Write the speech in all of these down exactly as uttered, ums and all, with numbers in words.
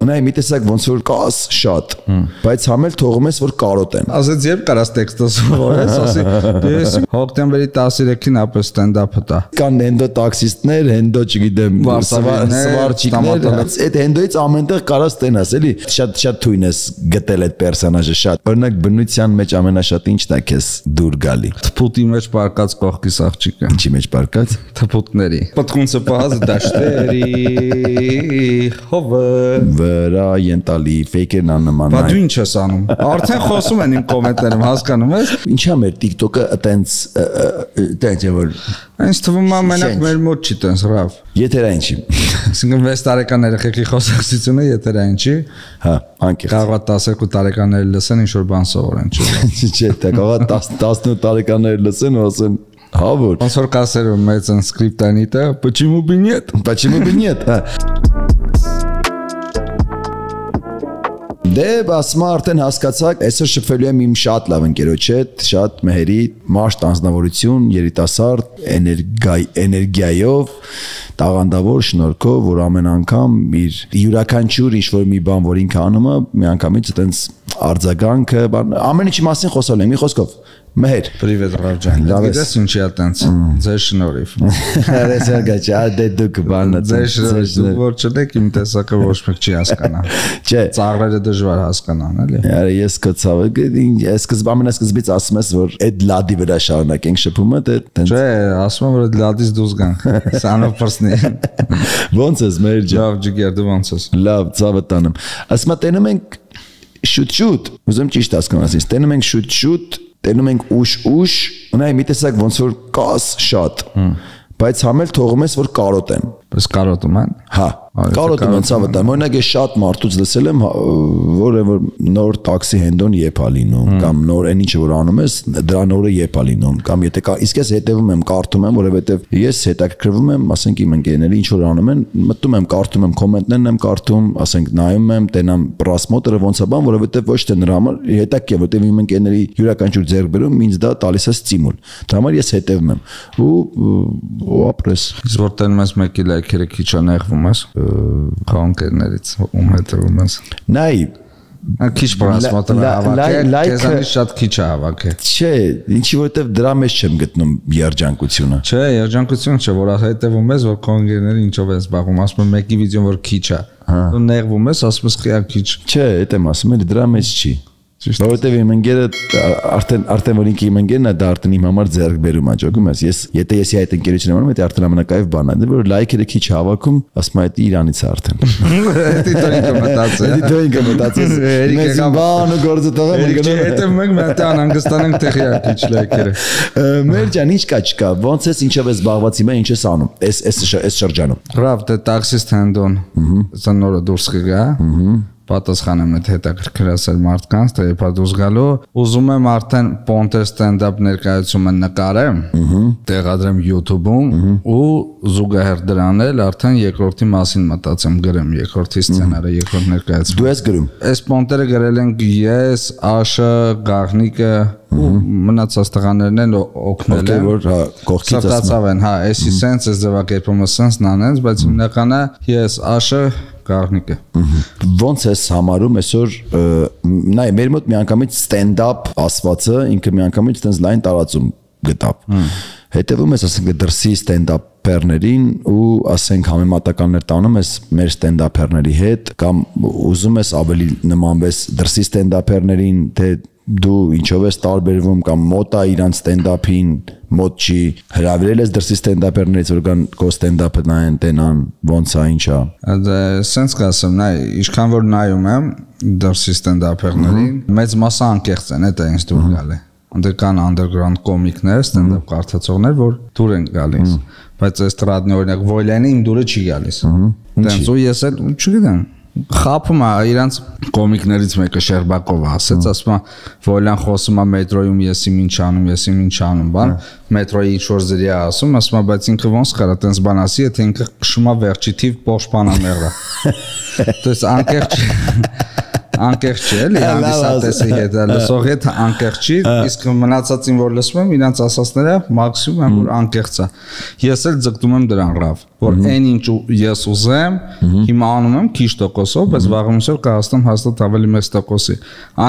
Ունայի մի տեսակ ոնց որ կաս շատ, բայց համել թողում ես որ կարոտեն։ Ասեց երբ կարաս տեքստը սովորես, ասի դες հոկտեմբերի տասներեքին ապես ստենդափը տա։ Կան հենդո տաքսիստներ, հենդո չգիտեմ, սվարչիկներ, այդ հենդոից ամենտեղ կարաս տենաս, էլի շատ շատ թույն ես գտել այդ պերսոնաժը շատ։ Օրինակ բնության մեջ ամենաշատ ինչն է քեզ դուր գալի։ Թփուտի մեջ պարկած կողքիս աղջիկը։ Ինչի մեջ պարկած։ Թփուտների։ Պատկունցը պահած դաշտերի հովը վրա ենտալի ֆեյքերն աննման։ Բա դու ինչ ես անում։ Արդեն խոսում են իմ կոմենտներում, հասկանում ես։ Ինչա մեր TikTok-ը այտենց այտենց է որ Ինձ թվում է մենակ մեր մոտ չի տենց ռավ։ Եթերային չի։ Այսինքն վեց տարեկան երեխեքի խոսակցությունը եթերային չի։ Հա, անկեղծ։ Կարող է տասներկու տարեկանները լսեն ինչ որ բան սովորեն, չէ՞։ Չէ, դա կարող է տասնութ տարեկանները լսեն ու ասեն հա որ ոնց որ կասեր մեծ են սկրիպտանիտը, почему бы нет։ Почему бы нет։ Դե ասма արդեն հասկացաք, այսօր շփվելու եմ իմ շատ լավ ընկերոջ հետ, շատ մեհերի, մարդ անձնավորություն, երիտասարդ, էներգիայով, տաղանդավոր շնորհքով, որ ամեն անգամ իր յուրաքանչյուր ինչ-որ մի բան, որ ինքը անում է, միանգամից այտենց արձագանքը, ամեն ինչի մասին խոսել եմ, մի խոսքով։ Մեհեր։ Պրիվետ Ռավջան։ Գիտես ինչի է տենց։ Ձեր շնորհիվ։ Արես արգաչա, դե դուք բանը։ Ձեր շնորհիվ որ չեք իմ տեսակը ոչ մեկ չի հասկանա։ Չէ։ Ծաղրերը դժվար հասկանան, էլի։ Արա ես կցավ, ես սկզբ ամենասկզբից ասում ես որ այդ լադի վրա շարունակենք շփումը, դե տենց։ Չէ, ասում եմ որ այդ լադից դուրս գանք։ Սանով պրսնի։ Ոնց ես մեր ջան։ Լավ ջիգեր դու ոնց ես։ Լավ, ցավը տանեմ։ Ասում եմ տենում ենք շուտ-շուտ, ուզում ճիշտ հասկանաս, տենում ենք շուտ-շուտ տենում ենք ուշ-ուշ, ունայի մի տեսակ ոնց որ կաս շատ, բայց համել թողում ես որ կարոտեն։ Պես կարոտում են։ Հա, կարոտում են ցավը տան։ Օրինակ ես շատ մարդուց լսել եմ, որ որ նոր տաքսի հենդոն եփ ա լինում, կամ նոր այն ինչը որ անում ես, դրա նորը եփ ա լինում, կամ եթե իսկ ես հետևում եմ, կարդում եմ, որովհետև ես հետաքրքրվում եմ, ասենք իմ ընկերները ինչ որ անում են, մտնում եմ, կարդում եմ, կոմենտներն եմ կարդում, ասենք նայում եմ, տենամ պրասմոտերը ոնց է բան, որովհետև ոչ թե նրա համար հետաքրքիր է, որովհետև իմ ընկերների յուրաքանչյուր ձեռքբերում ինձ դա տալիս է ստիմուլ։ Դրա համար ես հետևում եմ ու ու ապրես։ Իսկ որ տենում ես մեկի լայքերը քիչ անեղվում ես խանքերներից ում հետևում ես։ Նայ քիչ պրասմոտը հավաքել, քեզանից շատ քիչ է հավաքել։ Չէ, ինչի որովհետև դրա մեջ չեմ գտնում երջանկությունը։ Չէ, երջանկություն չէ, որ հետևում ես, որ կոնգերների ինչով ես զբաղվում, ասում եմ մեկի վիդեոն որ քիչ է։ Դու նեղվում ես, ասում ես քիչ քիչ։ Չէ, դա եմ ասում, էլի դրա մեջ չի։ Որովհետև իմ ընկերը արդեն արդեն որ ինքը իմ ընկերն է, դա արդեն իմ համար ձեռք բերում է, ճոգում ես։ Ես եթե եսի այդ ընկերությունը անում, դա արդեն ամենակայև բանն է։ Դե որ լայքերը քիչ հավաքում, ասում եմ, դա իրանից է արդեն։ Դա ինքը մտածել։ Դա ինքը մտածել։ Մենք բան ու գործը տղա մենք գնում։ Եթե մենք մտան հանգստանանք տեղյակ քիչ լայքերը։ Մեր ջան, ինչ կա չկա։ Ոնց ես ինչով ես զբաղված հիմա, ինչ ես անում։ Էս էս էս շրջանում։ Ռավ, դե տաքսիստ հենդոն։ Սա նորը դուրս կգա։ Պատասխանեմ այդ հետաքրքրասեր մարդկանց, թե երբ դուրս գալու, ուզում եմ արդեն Ponter stand-up ներկայացումը նկարեմ, տեղադրեմ YouTube-ում ու զուգահեռ դրան էլ արդեն երկրորդի մասին մտածեմ գրեմ, երկրորդի սցենարը, երկրորդ ներկայացումը։ Դու ես գրում։ Այս Ponter-ը գրել ենք ես, Աշը, Գաղնիկը ու մնացած տղաներն են օգնել են, որ հա կողքից ասում են, հա, էսի sense, այս ձևակերպումը sense նանենց, բայց հիմնականը ես, Աշը Գաղնիկը։ Ոնց ես համարում այսօր նայ մեր մոտ միանգամից stand-up ասվածը ինքը միանգամից այդպես լայն տարածում գտավ։ Հետևում ես ասենք դրսի stand-up-երներին ու ասենք համեմատականներ տանում ես մեր stand-up-երների հետ կամ ուզում ես ավելի նմանվես դրսի stand-up-երներին, թե դու ինչով ես տարբերվում կամ մոտ է իրանց stand-up-ին, մոտ չի, հրավիրել ես դրսի stand-up-երներից, որ կան քո stand-up-ը նայեն, տենան, ոնց է, ինչ է։ Դա sense կասեմ, նայ, ինչքան որ նայում եմ դրսի stand-up-երներին, մեծ մասը անկեղծ են, դա ինձ դուր գալ է։ Անդր կան underground կոմիկներ, stand-up կարդացողներ, որ դուր են գալիս, բայց այս տրադնի օրինակ Voylan-ը իմ դուրը չի գալիս։ Դենց ու ես էլ չգիտեմ խափում է իրանց կոմիկներից մեկը Շերբակովը ասեց, ասում է Voylan խոսում է մետրոյում ես իմ ինչ անում, ես իմ ինչ անում, բան, մետրոյի ինչ որ զրի է ասում, ասում է բայց ինքը ոնց կարա տենց բան ասի, եթե ինքը քշում է վերջի թիվ պոշպանամեղրը։ Դες անկեղծ անկեղծ չէ, էլի հանդիսատեսի հետ, լսողի հետ անկեղծ չի, իսկ մնացածին որ լսում եմ, իրանց ասածները մաքսիմում են որ անկեղծ է։ Ես էլ ձգտում եմ դրան ռավ, որ այն ինչ ես ուզեմ, հիմա անում եմ քիչ տոկոսով, բայց վաղը մինչև կհասնեմ հաստատ ավելի մեծ տոկոսի։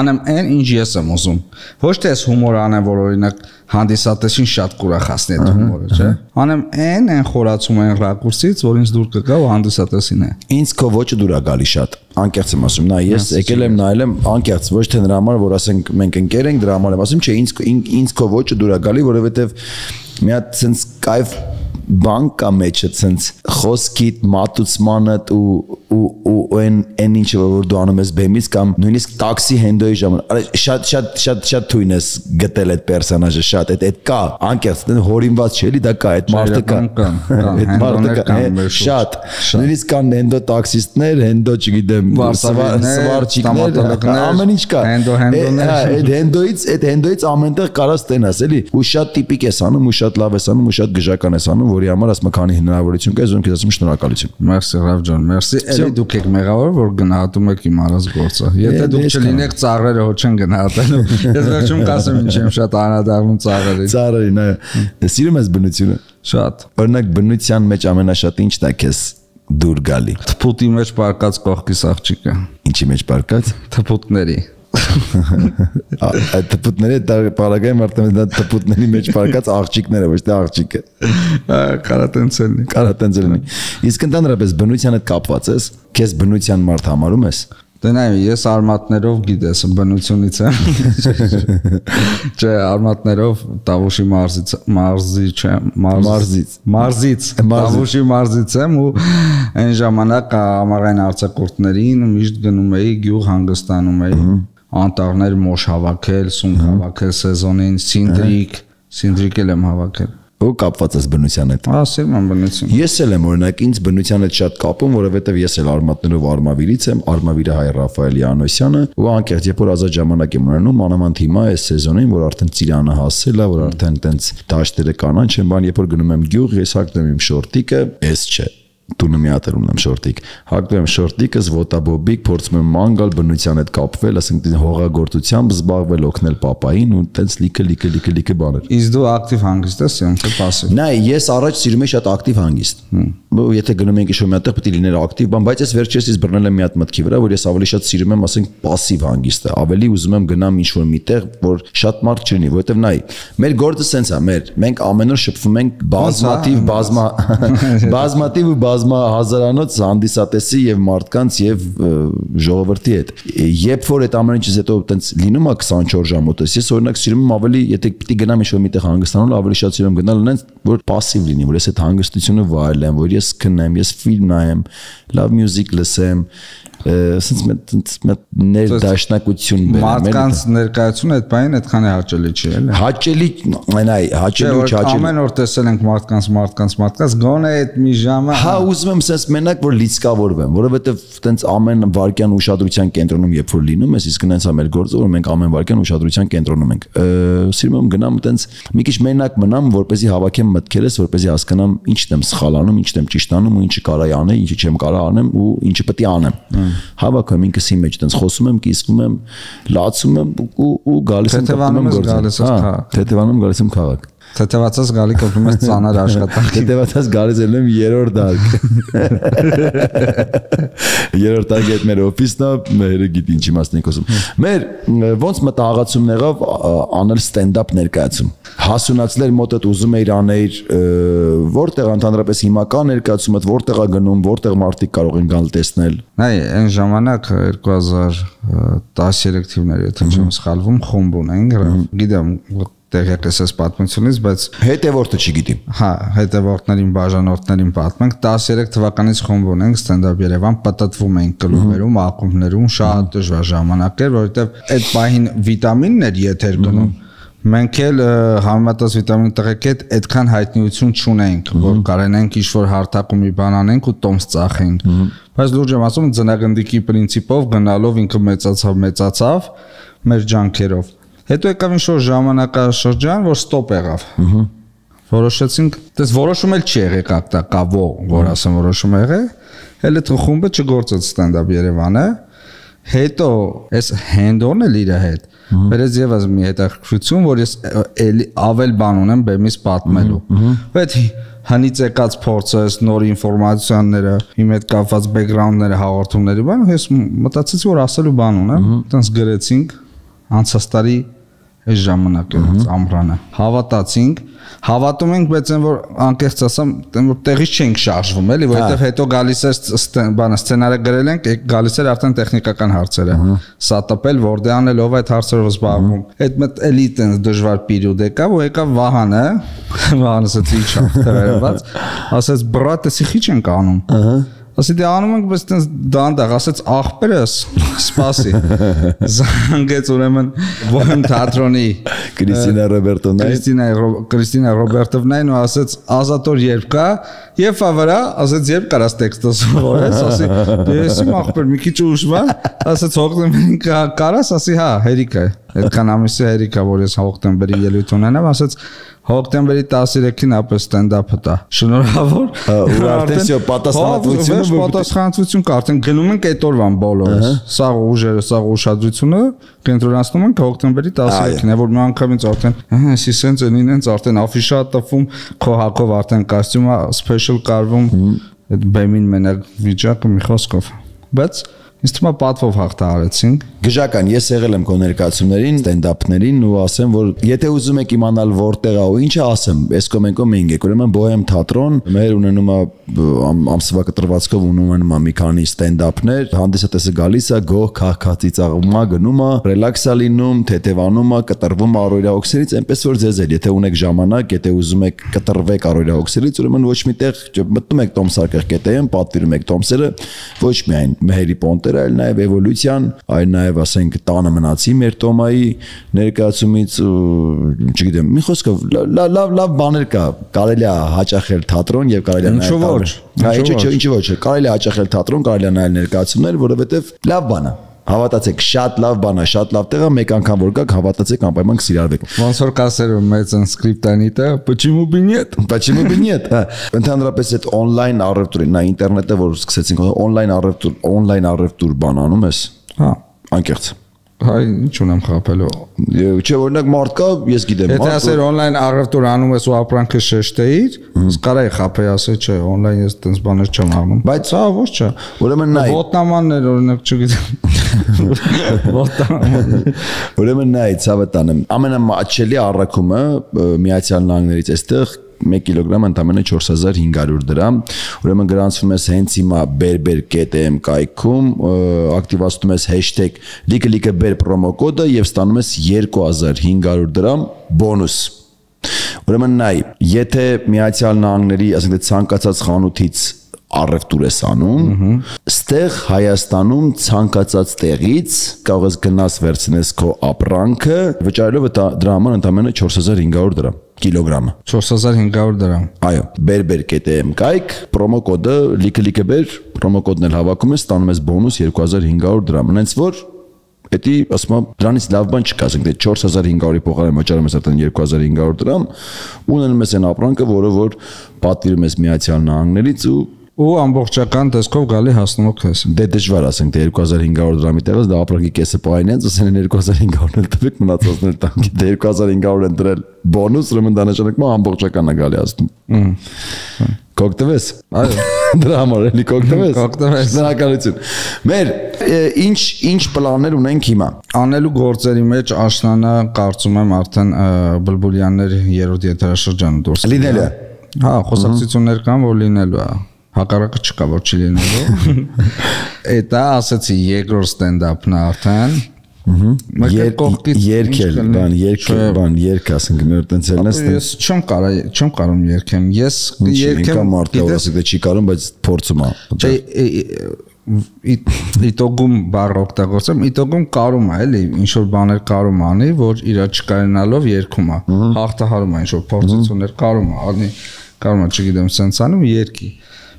Անեմ այն, ինչ ես եմ ուզում։ Ոչ թե ես հումոր անեմ, որ օրինակ հանդիսատեսին շատ կուրախացնի այդ հումորը, չէ։ Անեմ այն, այն խորացում այն ռակուրսից, որ ինձ դուր կգա ու հանդիսատեսին է։ Ինձ քո ոճը դուր է գալի շատ։ Անկեղծ եմ ասում, նա ես եկել եմ նայել եմ անկեղծ, ոչ թե նրա համար, որ ասենք մենք ընկեր ենք, դրա համար եմ ասում, չէ, ինձ ինձ քո ոճը դուր է գալի, որովհետև մի հատ sense կայֆ բան կա մեջը sense խոսքիդ մատուցմանդ ու ու ու այն այն ինչը որ դու անում ես բեմից կամ նույնիսկ տաքսի հենդոյի ժամանակ շատ շատ շատ շատ թույն ես գտել այդ պերսոնաժը շատ այդ այդ կա անկեղծ հորինված չէ էլի դա կա այդ մարդը կա այդ մարդը կա շատ նույնիսկ կան հենդո տաքսիստներ հենդո չգիտեմ սվարչիկներ ամեն ինչ կա հենդո հենդոներ այդ հենդոից այդ հենդոից ամենտեղ կարաս տենաս էլի ու շատ տիպիկ ես անում ու շատ լավ ես անում ու շատ գժական ես անում որի համար ասում քանի հնարավորություն կա ես ասում շնորհակալություն մերսի Ռավ ջան մերսի էլի դուք եք մեղավոր որ գնահատում եք իմ արած գործը եթե դուք չլինեք ծաղրերը հո չեն գնահատելու ես վերջում կասեմ ինչ եմ շատ անադառնում ծաղրերին ծաղրերին այո սիրում ես բնությունը շատ օրինակ բնության մեջ ամենաշատը ինչն է քեզ դուր գալի թփուտի մեջ պարկած կողքիս աղջիկը ինչի մեջ պարկած թփուտների այդ թփուտները դա պարագայում արդեն դա թփուտների մեջ պարկած աղջիկները ոչ թե աղջիկը կարատենցելնի կարատենցելնի իսկ ընդհանրապես բնության հետ կապված ես քեզ բնության մարդ համարում ես դե նայ ես արմատներով գիտես բնությունից եմ չէ արմատներով Տավուշի մարզից մարզի չէ մարզից մարզից Տավուշի մարզից եմ ու այն ժամանակ ամառային արձակուրդներին միշտ գնում էի գյուղ հանգստանում էի անտառներ մոշ հավաքել, սունկ հավաքել սեզոնին, սինդրիկ, սինդրիկ եմ հավաքել։ Ու կապված ես բնության հետ։ Ասեմ եմ բնություն։ Ես էլ եմ օրինակ ինձ բնության հետ շատ կապում, որովհետև ես էլ արմատներով Արմավիրից եմ, Արմավիրը հայ Ռաֆայելի Անոսյանը, ու անկեղծ երբ որ ազատ ժամանակ եմ ունենում, մանավանդ հիմա այս սեզոնին, որ արդեն ծիրանը հասել է, որ արդեն տենց դաշտերը կանաչ են, բան երբ որ գնում եմ գյուղ, ես հագնում եմ շորտիկը, էս չէ։ Տունը մի հատ ունեմ շորտիկ հագնում եմ շորտիկս ոտաբոբիկ փորձում եմ ման գալ բնության հետ կապվել ասենք հողագործությամբ զբաղվել օգնել պապային ու տենց լիքը լիքը լիքը լիքը բաներ իսկ դու ակտիվ հանգիստ ես ոնց է пассив նայ ես առաջ սիրում եի շատ ակտիվ հանգիստ եթե գնում ենք ինչ-որ մի հատ պետք է լիներ ակտիվ բան բայց ես վերջերս բռնել եմ մի հատ մտքի վրա որ ես ավելի շատ սիրում եմ ասենք пассив հանգիստը ավելի ուզում եմ գնամ ինչ-որ միտեղ որ շատ մարդ չլինի որովհետև նայ մեր գործը սենց է մեր մենք ամեն օր շփվում ենք բազմատիվ բազմա բազմատիվ ու բազմա հազարանոց հանդիսատեսի եւ մարդկանց եւ ժողովրդի հետ երբ որ այդ ամեն ինչից հետո տենց լինում է քսանչորս ժամ ուտես ես օրինակ սիրում եմ ավելի եթե պիտի գնամ ինչ-որ միտեղ հանգստանալ ավելի շատ սիրում եմ գնալ այնց որ пассив լինի որ ես այդ հանգստությունը վայելեմ որ ես քնեմ ես ֆիլմ նայեմ լավ մյուզիկ լսեմ sense met ներդաշնակություն բերեմ մարդկանց ներկայությունը այդ բանին այդքան է հաճելի չի էլի հաճելի այն այ հաճելի ու չհաճելի ամեն օր տեսել ենք մարդկանց մարդկանց մարդկանց գոնե այդ մի ժամը հա ուզում եմ sense մենակ որ լիցկավորվեմ որովհետև տենց ամեն վարքյան ուշադրության կենտրոնում երբ որ լինում ես իսկ նենց է մեր գործը որ մենք ամեն վարքյան ուշադրության կենտրոնում ենք սիրում եմ գնամ տենց մի քիչ մենակ մնամ որպեսզի հավաքեմ մտքերս որպեսզի հասկանամ ինչն եմ սխալ անում ինչն եմ ճիշտ անում ու ինչը կարա անել ինչը չեմ կարա անեմ ու ինչը պետք է անեմ հավաքում ինքս իմ մեջ տենց խոսում եմ, կիսվում եմ, լացում եմ ու ու գալիս եմ կապտում եմ գործը։ Հա, թեթևանում գալիս եմ քաղաք։ Թեթևացած գալի կապտում ես ծանր աշխատանք։ Թեթևացած գալիս եմ երրորդ դարկ։ Երրորդ դարկ այդ մեր օֆիսն է, մերը գիտի ինչի մասն ենք խոսում։ Մեր ոնց մտահղացումն եղավ անել ստենդափ ներկայացում։ Հասունացնել մոտդ ուզում էիր անել որտեղ ընդհանրապես հիմա կա ներկայացումը, որտեղ է գնում, որտեղ մարդիկ կարող են գալ տեսնել։ Նայ, այն ժամանակ երկու հազար տասներեք թիվներ, եթե չեմ սխալվում, խումբ ունենք, գիտեմ տեղյակ ես այս պատմությունից, բայց հետևորդը չգիտի։ Հա, հետևորդներին, բաժանորդներին պատմենք, տասներեք թվականից խումբ ունենք ստենդափ Երևան, պատտվում ենք կլուբերում, ակումբներում, շատ դժվար ժամանակ էր, որովհետև այդ պահին վիտամիններ եթեր գնում։ Մենք էլ համեմատած վիտամին տղեկ հետ այդքան հայտնիություն չունենք, որ կարենենք ինչ-որ հարթակում մի բան անենք ու տոմս ծախենք։ Բայց լուրջ եմ ասում, ձնագնդիկի պրինցիպով գնալով ինքը մեծացավ, մեծացավ մեր ջանքերով։ Հետո եկավ ինչ-որ ժամանակաշրջան, որ ստոպ եղավ։ Որոշեցինք, դες որոշում էլ չի եղել կակտա կավո, որ ասեմ որոշում եղել, էլ այդ խումբը չգործեց ստենդափ Երևանը։ Հետո այս hand-on-ը իր հետ։ Վերես եւս մի հետաքրքրություն, որ ես ավել բան ունեմ բեմից պատմելու։ Բայց հնից եկած փորձը, նոր ինֆորմացիաները, իմ հետ կապված բեքգրաունդները, հաղորդումների բան, ես մտածեցի, որ ասելու բան ունեմ, այտենց գրեցինք անցած տարի այս ժամանակերից ամռանը։ Հավատացինք, հավատում ենք, բայց այն որ անկեղծ ասեմ, այն որ տեղից չենք շարժվում, էլի, որովհետև հետո գալիս է բանը սցենարը գրել ենք, գալիս էր արդեն տեխնիկական հարցերը։ Սա տպել, որտե անել, ով այդ հարցերով զբաղվում։ Այդ մտ էլի այտենց դժվար պերիոդ եկավ, ու եկավ Վահանը, Վահանը ասաց ի՞նչ թվերված, ասաց բրատ, էսի քիչ ենք անում։ Ասի դե անում ենք, բայց այտենց դանդաղ, ասաց աղբերս, սպասի։ Զանգեց ուրեմն Բոհեմ թատրոնի Կրիստինա Ռոբերտովնային Կրիստինա Կրիստինա Ռոբերտովնային ու ասաց Ազատոր երբ կա, եւ ավրա, ասաց երբ կարաս տեքստը սովորես, ասի դե էսի աղբեր մի քիչ ուշվա, ասաց հոկտեմբերին կարաս, ասի հա, հերիք է։ Այդքան ամիսի հերիք է, որ ես հոկտեմբերի ելույթ ունենամ, ասաց հոկտեմբերի տասներեքին ապա ստենդափը տա։ Շնորհավոր։ Ու արդեն սա պատասխանատվությունը պատասխանատվություն կա, արդեն գնում ենք այդ օրվան բոլորս։ Սա ուժերը, սա ուշադրությունը կենտրոնացնում ենք հոկտեմբերի տասներեքին, որ մի անգամից արդեն, հա, էսի սենց են ինենց արդեն աֆիշա տվում, քո հակով արդեն կոստյումը սպեշալ կարվում, այդ բեմին մենակ վիճակը մի խոսքով։ Բայց ինձ թվում է պատվով հաղթահարեցինք։ Գժական, ես եղել եմ քո ներկայացումներին, ստենդափներին ու ասեմ, որ եթե ուզում եք իմանալ որտեղ է ու ինչը ասեմ, այս կոմենկո մենք եք, ուրեմն Բոհեմ թատրոն, մեր ունենում է ամսվա կտրվածքով ունենում է մի քանի ստենդափներ, հանդիսատեսը գալիս է, գող քահքացի ծաղում է, գնում է, ռելաքս է լինում, թեթևանում է, կտրվում է առօրյա օքսերից, այնպես որ ձեզ էլ, եթե ունեք ժամանակ, եթե ուզում եք կտրվեք առօրյա օքսերից, ուրեմն ոչ միտեղ մտնում եք Տոմսարկղ կետեին, պատվիրում եք Տոմսերը, ոչ միայն Մեհերի Պոնտերը, այլ նաև էվոլյուցիան, այլ նաև ասենք տանը մնացի մեր Տոմայի ներկայացումից, չգիտեմ, մի խոսքով լավ լավ բաներ կա, կարելի է հաճախել թատրոն եւ կարելի է նաև Հա, ինչու՞ ոչ, կարելի է հաճախել թատրոն, կարելի է նայել ներկայացումներ, որովհետեւ լավ բան է։ Հավատացեք, շատ լավ բան է, շատ լավ տեղ է, մեկ անգամ որ գաք, հավատացեք, անպայման կսիրարվեք։ Ոնց որ կասեր մեծ սկրիպտանիտը, почему бы нет? Почему бы нет? Ընդհանրապես այդ on-line առևտուրը, նա ինտերնետը որ սկսեցինք, on-line առևտուր, on-line առևտուր բան անում ես։ Հա, անկեղծ։ Հայ, ինչ ունեմ խապելու։ Չէ, օրինակ մարդ կա, ես գիտեմ, եթե ասեր on-line առևտուր անում ես ու ապրանքը շեշտեիր, կարայի խապեի ասել, չէ, on-line ես տենց բաներ չեմ անում։ Բայց հա, ոչ չէ։ Ուրեմն նայ։ Ոտնամաններ օրինակ չգիտեմ։ Ոտնամաններ։ Ուրեմն նայ, ցավը տանեմ։ Ամենամաչելի առաքումը Միացյալ Նահանգներից այստեղ մեկ կիլոգրամ ընդամենը չորս հազար հինգ հարյուր դրամ, ուրեմն գրանցվում ես հենց հիմա berber dot am կայքում, ակտիվացնում ես hashtag լիկը լիկը ber պրոմո կոդը եւ ստանում ես երկու հազար հինգ հարյուր դրամ բոնուս։ Ուրեմն նայ, եթե Միացյալ Նահանգների, ասենք ցանկացած խանութից առևտուր ես անում, ստեղ Հայաստանում ցանկացած տեղից կարող ես գնաս վերցնես քո ապրանքը, վճարելով դրա համար ընդամենը չորս հազար հինգ հարյուր դրամ կիլոգրամը։ չորս հազար հինգ հարյուր դրամ։ Այո, berber dot am կայք, պրոմո կոդը լիկը լիկը ber, պրոմո կոդն էլ հավաքում ես, ստանում ես բոնուս երկու հազար հինգ հարյուր դրամ։ Հենց որ Էդի ասում եմ դրանից լավ բան չկա, ասենք դե չորս հազար հինգ հարյուրի փոխարեն վճարում ես արդեն երկու հազար հինգ հարյուր դրամ, ունենում ես այն ապրանքը, որը որ պատվիրում ես Միացյալ Նահանգներից ու ու ամբողջական տեսքով գալի հասնում եք քեզ։ Դե դժվար ասենք դե երկու հազար հինգ հարյուր դրամի տեղից դա ապրանքի կեսը պայնենց, ասեն երկու հազար հինգ հարյուր էլ տվեք մնացածն էլ տանք։ Դե երկու հազար հինգ հարյուր են դրել բոնուս, ուրեմն դա նշանակում է ամբողջական է գալի հասնում։ Կօգտվես։ Այո։ Դրա համար էլի կօգտվես։ Կօգտվես։ Շնորհակալություն։ Մեր ինչ ինչ պլաններ ունենք հիմա։ Անելու գործերի մեջ աշնանը կարծում եմ արդեն Բլբուլյաններ երրորդ եթերաշրջանը դուրս։ Լինելու է։ Հա, խոսակցություններ կան, որ լինելու է։ Հակառակը չկա, որ չի լինելու։ Էտա ասացի երկրորդ ստենդափն է արդեն։ Երկել, բան, երկել, բան, երկ ասենք մեր տենց էլ նստեն։ Ես չեմ կարա, չեմ կարում երկեմ։ Ես երկեմ մարդը ասեք դե չի կարում, բայց փորձում է։ Չէ, իտոգում բառ օգտագործեմ, իտոգում կարում է, էլի, ինչ որ բաներ կարում անի, որ իրա չկարենալով երգում է։ Հաղթահարում է ինչ որ փորձություններ կարում է, անի, կարում է, չգիտեմ, սենց անում երկի։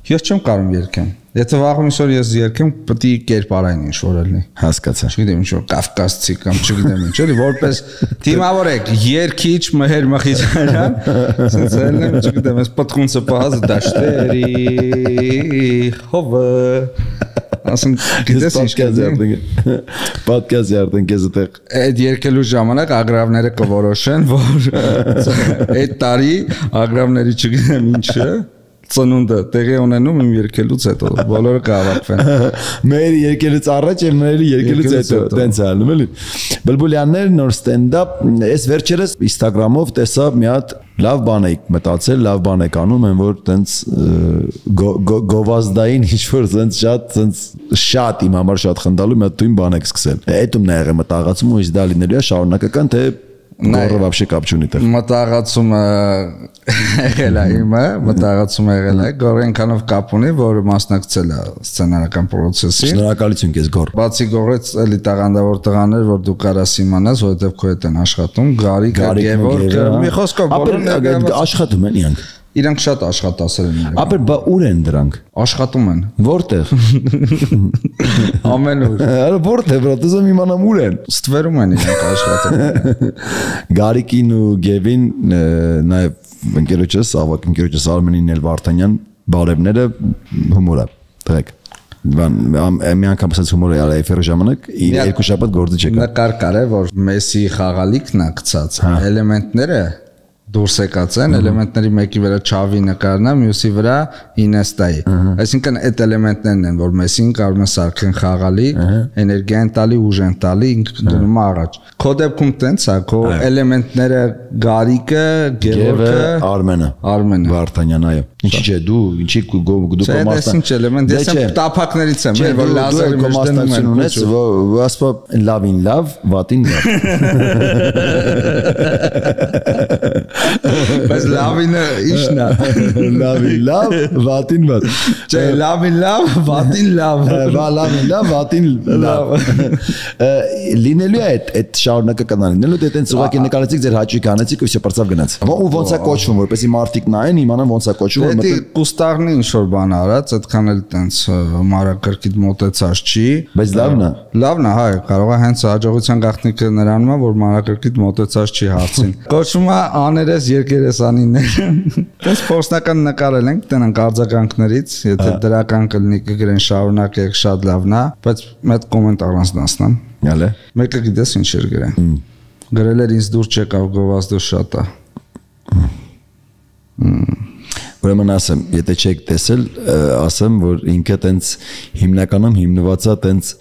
Ես չեմ կարում երկեմ։ Եթե վաղ ինչ որ ես երկեմ, պետք է կերպարային ինչ որ լինի։ Հասկացա։ Չգիտեմ ինչ որ կավկասցի կամ չգիտեմ ինչ, էլի որպես թիմավորեք, երկիչ Մեհեր Մխիթարյան, ասենց ելնեմ, չգիտեմ, ես պատխունցը պահած դաշտերի հովը։ Ասում գիտես ինչ կազի։ Պոդքասթ երթեն քեզ այդտեղ։ Այդ երկելու ժամանակ ագրավները կորոշեն, որ այդ տարի ագրավների չգիտեմ ինչը ծնունդը տեղի ունենում իմ երկելուց հետո բոլորը կհավաքվեն մեր երկելուց առաջ եւ մեր երկելուց հետո տենց ալնում էլի բլբուլյաններ նոր ստենդափ այս վերջերս Instagram-ով տեսա մի հատ լավ բան եք մտածել լավ բան եք անում են որ տենց գովազդային ինչ որ տենց շատ տենց շատ իմ համար շատ խնդալու մի հատ դույն բան եք սկսել այդում նա եղել մտածում ու իզ դա լինելու է շարունակական թե Գորը вообще կապ չունի տեղ։ Մտածումը եղել է իմը, մտածումը եղել է, գորը այնքանով կապ ունի, որ մասնակցել է սցենարական process-ին։ Շնորհակալություն քեզ գոր։ Բացի գորից էլի տաղանդավոր տղաներ, որ դու կարաս իմանաս, որովհետև քո հետ են աշխատում, Գարիկը, Գևորգը, մի խոսքով բոլորը աշխատում են իրանք։ Իրանք շատ աշխատասեր են իրենք։ Ապա բա ուր են դրանք։ Աշխատում են։ Որտեղ։ Ամենուր։ Արա որտեղ, բրա, դու իմանամ ուր են։ Ստվերում են իրանք աշխատում։ Գարիկին ու Գևին նաև ընկերոջս, ավակ ընկերոջս Արմենին էլ Վարդանյան բարևները հումոր է։ Տղեկ։ Բան մի անգամ ասած հումոր է արել էֆերի ժամանակ երկու շաբաթ գործը չեկա։ Նկար կար է որ Մեսսի խաղալիքն է գցած էլեմենտները դուրս եկած են էլեմենտների մեկի վրա Չավի նկարն է, մյուսի վրա Ինեստայի։ Այսինքն այդ էլեմենտներն են, որ Մեսսին կարող է սարքեն խաղալի, էներգիա են տալի, ուժ են տալի, ինքը դնում է առաջ։ Քո դեպքում տենց է, քո էլեմենտները Գարիկը, Գևորգը, Արմենը, Արմենը, Վարդանյան, այո։ Ինչի՞ չէ, դու, ինչի դու կոմաստան։ Ինչ էլեմենտ, ես եմ տափակներից եմ, որ լազերի մեջ դնում են ունես, ասպա լավին լավ, վատին լավ։ Բայց լավինը ի՞նչն է։ Լավին լավ, վատին վատ։ Չէ, լավին լավ, վատին լավ։ Բա լավին լավ, վատին լավ։ Լինելու է այդ այդ շարունակական լինելու դե տենց ուղղակի նկարեցիք ձեր հաճույք անեցիք ու все բարձավ գնաց։ Ու ոնց է կոչվում, որպեսզի մարդիկ նայեն, իմանան ոնց է կոչվում։ Դե կուստարնի ինչ որ բան արած, այդքան էլ տենց մարակրկիտ մոտեցած չի։ Բայց լավն է։ Լավն է, հա, կարող է հենց հաջողության գաղտնիքը նրանում է, որ մարակրկիտ մոտեցած չի հարցին։ Կոչվում է աներես երկերեսանիներ։ Տես փորձնական նկարել ենք, տենանք արձագանքներից, եթե դրական կլինի կգրեն շարունակեք, շատ լավն է, բայց մեծ կոմենտ առանց դասնան։ Յալե։ Մեկը գիտես ինչ էր գրել։ Գրել էր ինձ դուր չեկավ գովազդը շատ է։ Ուրեմն ասեմ, եթե չեք տեսել, ասեմ, որ ինքը տենց հիմնականում հիմնված է տենց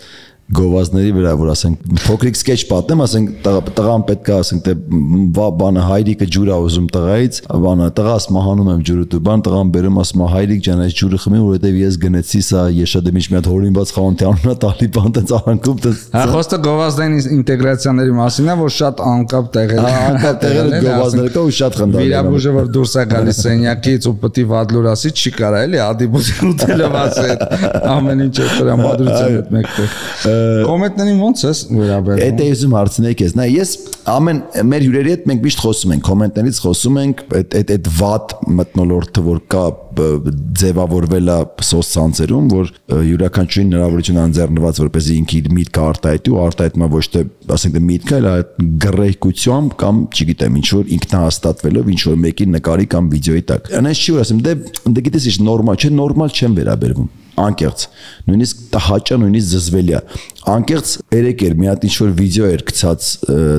գովազների վրա, որ ասենք փոքրիկ սկեչ պատեմ, ասենք տղան պետք է ասենք թե բանը հայրիկը ջուր է ուզում տղայից, բանը տղաս մահանում եմ ջուրը դու բան տղան բերում ասում հայրիկ ջան այս ջուրը խմի, որովհետև ես գնեցի սա եշադեմ ինչ մի հատ հորինված խանութի անունը տալի բան տենց արանքում տենց։ Հա խոսքը գովազդային ինտեգրացիաների մասին է, որ շատ անկապ տեղեր են։ Անկապ տեղեր են գովազդները կա ու շատ խնդալի։ Վիրաբույժը որ դուրս է գալիս սենյակից ու պետք է վադլուր ասի, չի կարա էլի ադիբուզի ուտելով ասել ամեն ինչ է տրամադրության հետ մեկտեղ։ Կոմենտներին ոնց ես վերաբերվում։ Այդ է ուզում հարցնել քեզ։ Նա ես ամեն մեր հյուրերի հետ մենք միշտ խոսում ենք, կոմենտներից խոսում ենք, այդ այդ այդ վատ մտնոլորտը որ կա ձևավորվել է սոցցանցերում, որ յուրաքանչյուրին հնարավորություն անձեռնված որպեսզի ինքը իր միտքը արտահայտի ու արտահայտում ոչ թե ասենք միտքը, այլ այդ գրեհկությամբ կամ չգիտեմ ինչ որ ինքնահաստատվելով ինչ որ մեկի նկարի կամ վիդեոյի տակ։ Անես չի որ ասեմ, դե դե գիտես ինչ նորմալ չէ, նորմալ չեմ վերաբերվում։ Անկեղծ նույնիսկ տհաճա նույնիսկ զզվելի է անկեղծ երեք էր մի հատ ինչ որ վիդեո էր գցած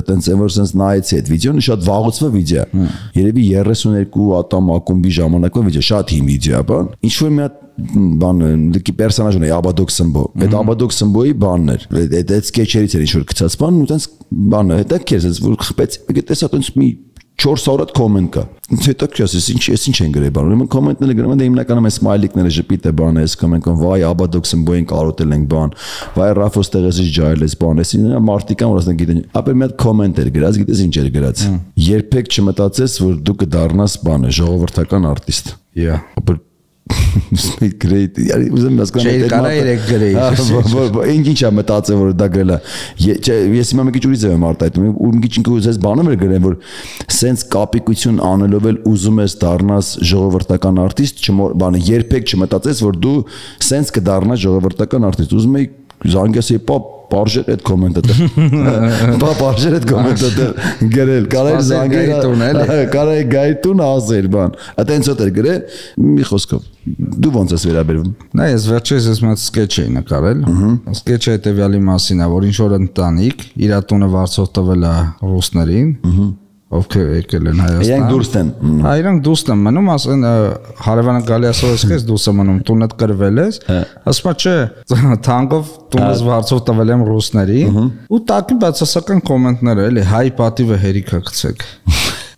տենց այն որ sense նայեցի այդ վիդեոն շատ վաղուց վիդեո է երևի երեսուն երկու ատամ ակումբի ժամանակվա վիդեո շատ հին վիդեո է բան ինչ որ մի հատ բան դեպի պերսոնաժն է Աբադոկ Սմբո այդ Աբադոկ Սմբոյի բանն էր այդ այդ սկեչերից էր ինչ որ գցած բան ու տենց բանը հետա քեզ որ խփեց գտես հա տենց մի չորս հարյուր կոմենտ կա։ Ինչ հետո քյասես ինչ ես ինչ են գրել բան։ Ուրեմն կոմենտները գրում են դե հիմնականում է սմայլիկները ժպիտ է բան է, ասում են վայ Աբադոկսն բոյին կարոտել ենք բան, վայ Ռաֆոս տեղեսից ջայել ես բան, ես ինձ մարտիկան որ ասեն գիտեն։ Ապա մի հատ կոմենտ էր գրած, գիտես ինչ էր գրած։ Երբեք չմտածես որ դու կդառնաս բանը ժողովրդական արտիստ։ Yeah. Great. Yari uzun nasıl şey karayerek great. İnginç ama metatsın var da gele. Ես հիմա մի քիչ ուրիշ եմ արտահայտում։ Ու մի քիչ ինքը ուզես բանը մեր գրեն որ sense կապիկություն անելով էլ ուզում ես դառնաս ժողովրդական արտիստ, բանը երբեք չմտածես որ դու sense կդառնաս ժողովրդական արտիստ։ Ուզում ես զանգեսի պապ Բարժեր այդ կոմենտը դեր։ Բա բարժեր այդ կոմենտը դեր գրել, կարել զանգել, կարել գայտուն ասել բան։ Այդտենց ոտ էր գրել, մի խոսքով։ Դու ոնց ես վերաբերվում։ Նա ես վերջերս ես մի սկեչ էի նկարել։ Սկեչը հետևյալի մասին է, որ ինչ որ ընտանիք իր տունը վարձով տվել է ռուսներին։ Ովքեր եկել են Հայաստան։ Իրանք դուրս են։ Հա, իրանք դուրս են մնում, ասեն հարևանը գալի ասող ես քեզ դուրս եմ մնում, տունդ կրվել ես։ Ասում չէ, թանկով տունս վարձով տվել եմ ռուսներին։ Ու տակին բացասական կոմենտներ էլի, հայ պատիվը հերիքա գցեք։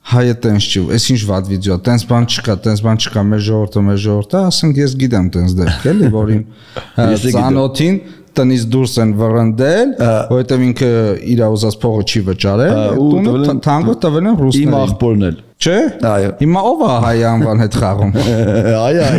Հայը տենց չի, այս ինչ վատ վիդեո, տենց բան չկա, տենց բան չկա, մեր ժողովուրդը, մեր ժողովուրդը, ասենք ես գիտեմ տենց դեպք էլի, որին ծանոթին տնից դուրս են վռնդել, որովհետև ինքը իր ուզած փողը չի վճարել, տունը թանկով տվել են ռուսներին։ Իմ աղբորն էլ։ Չէ։ Այո։ Հիմա ով է հայ անվան հետ խաղում։ Այ այ։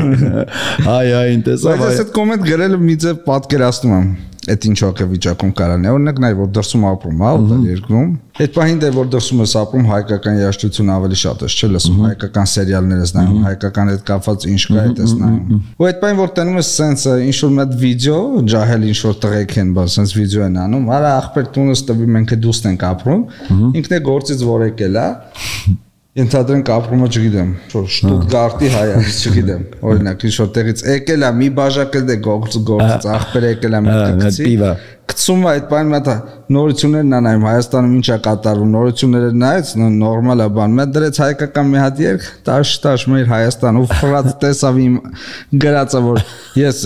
Այ այ, տեսա։ Բայց այս կոմենտ գրելը մի ձև պատկերացնում եմ։ Այդ ինչ հոգեվիճակում կարան է, օրինակ նայ որ դրսում ապրում, հա, ուտել երկրում։ Այդ պահին դե որ դրսում ես ապրում, հայկական երաժշտություն ավելի շատ ես, չէ՞ լսում, հայկական սերիալներ ես նայում, հայկական հետ կապված ինչ կա այդ ես նայում։ Ու այդ պահին որ տենում ես սենսը, ինչ որ մեծ վիդեո, ջահել ինչ որ տղեկ են, բա սենս վիդեո են անում, արա ախպեր տունս տվի մենք դուստ ենք ապրում, ինքն է գործից որ եկել է։ Ենթադրենք ապրումը չգիտեմ, որ Շտուտգարտի հայ է, չգիտեմ, օրինակ ինչ որ տեղից եկել է, մի բաժակ էլ դե գործից ախպեր եկել է մեկ գցի, գցում է այդ բանը մտա նորություններն է նայում Հայաստանում ինչ է կատարվում, նորությունները նայեց նորմալ է բան, մեծ դրեց հայկական մի հատ երգ, տաշ-տաշ մեր Հայաստան ու ֆրած տեսավ իմ գրածը որ ես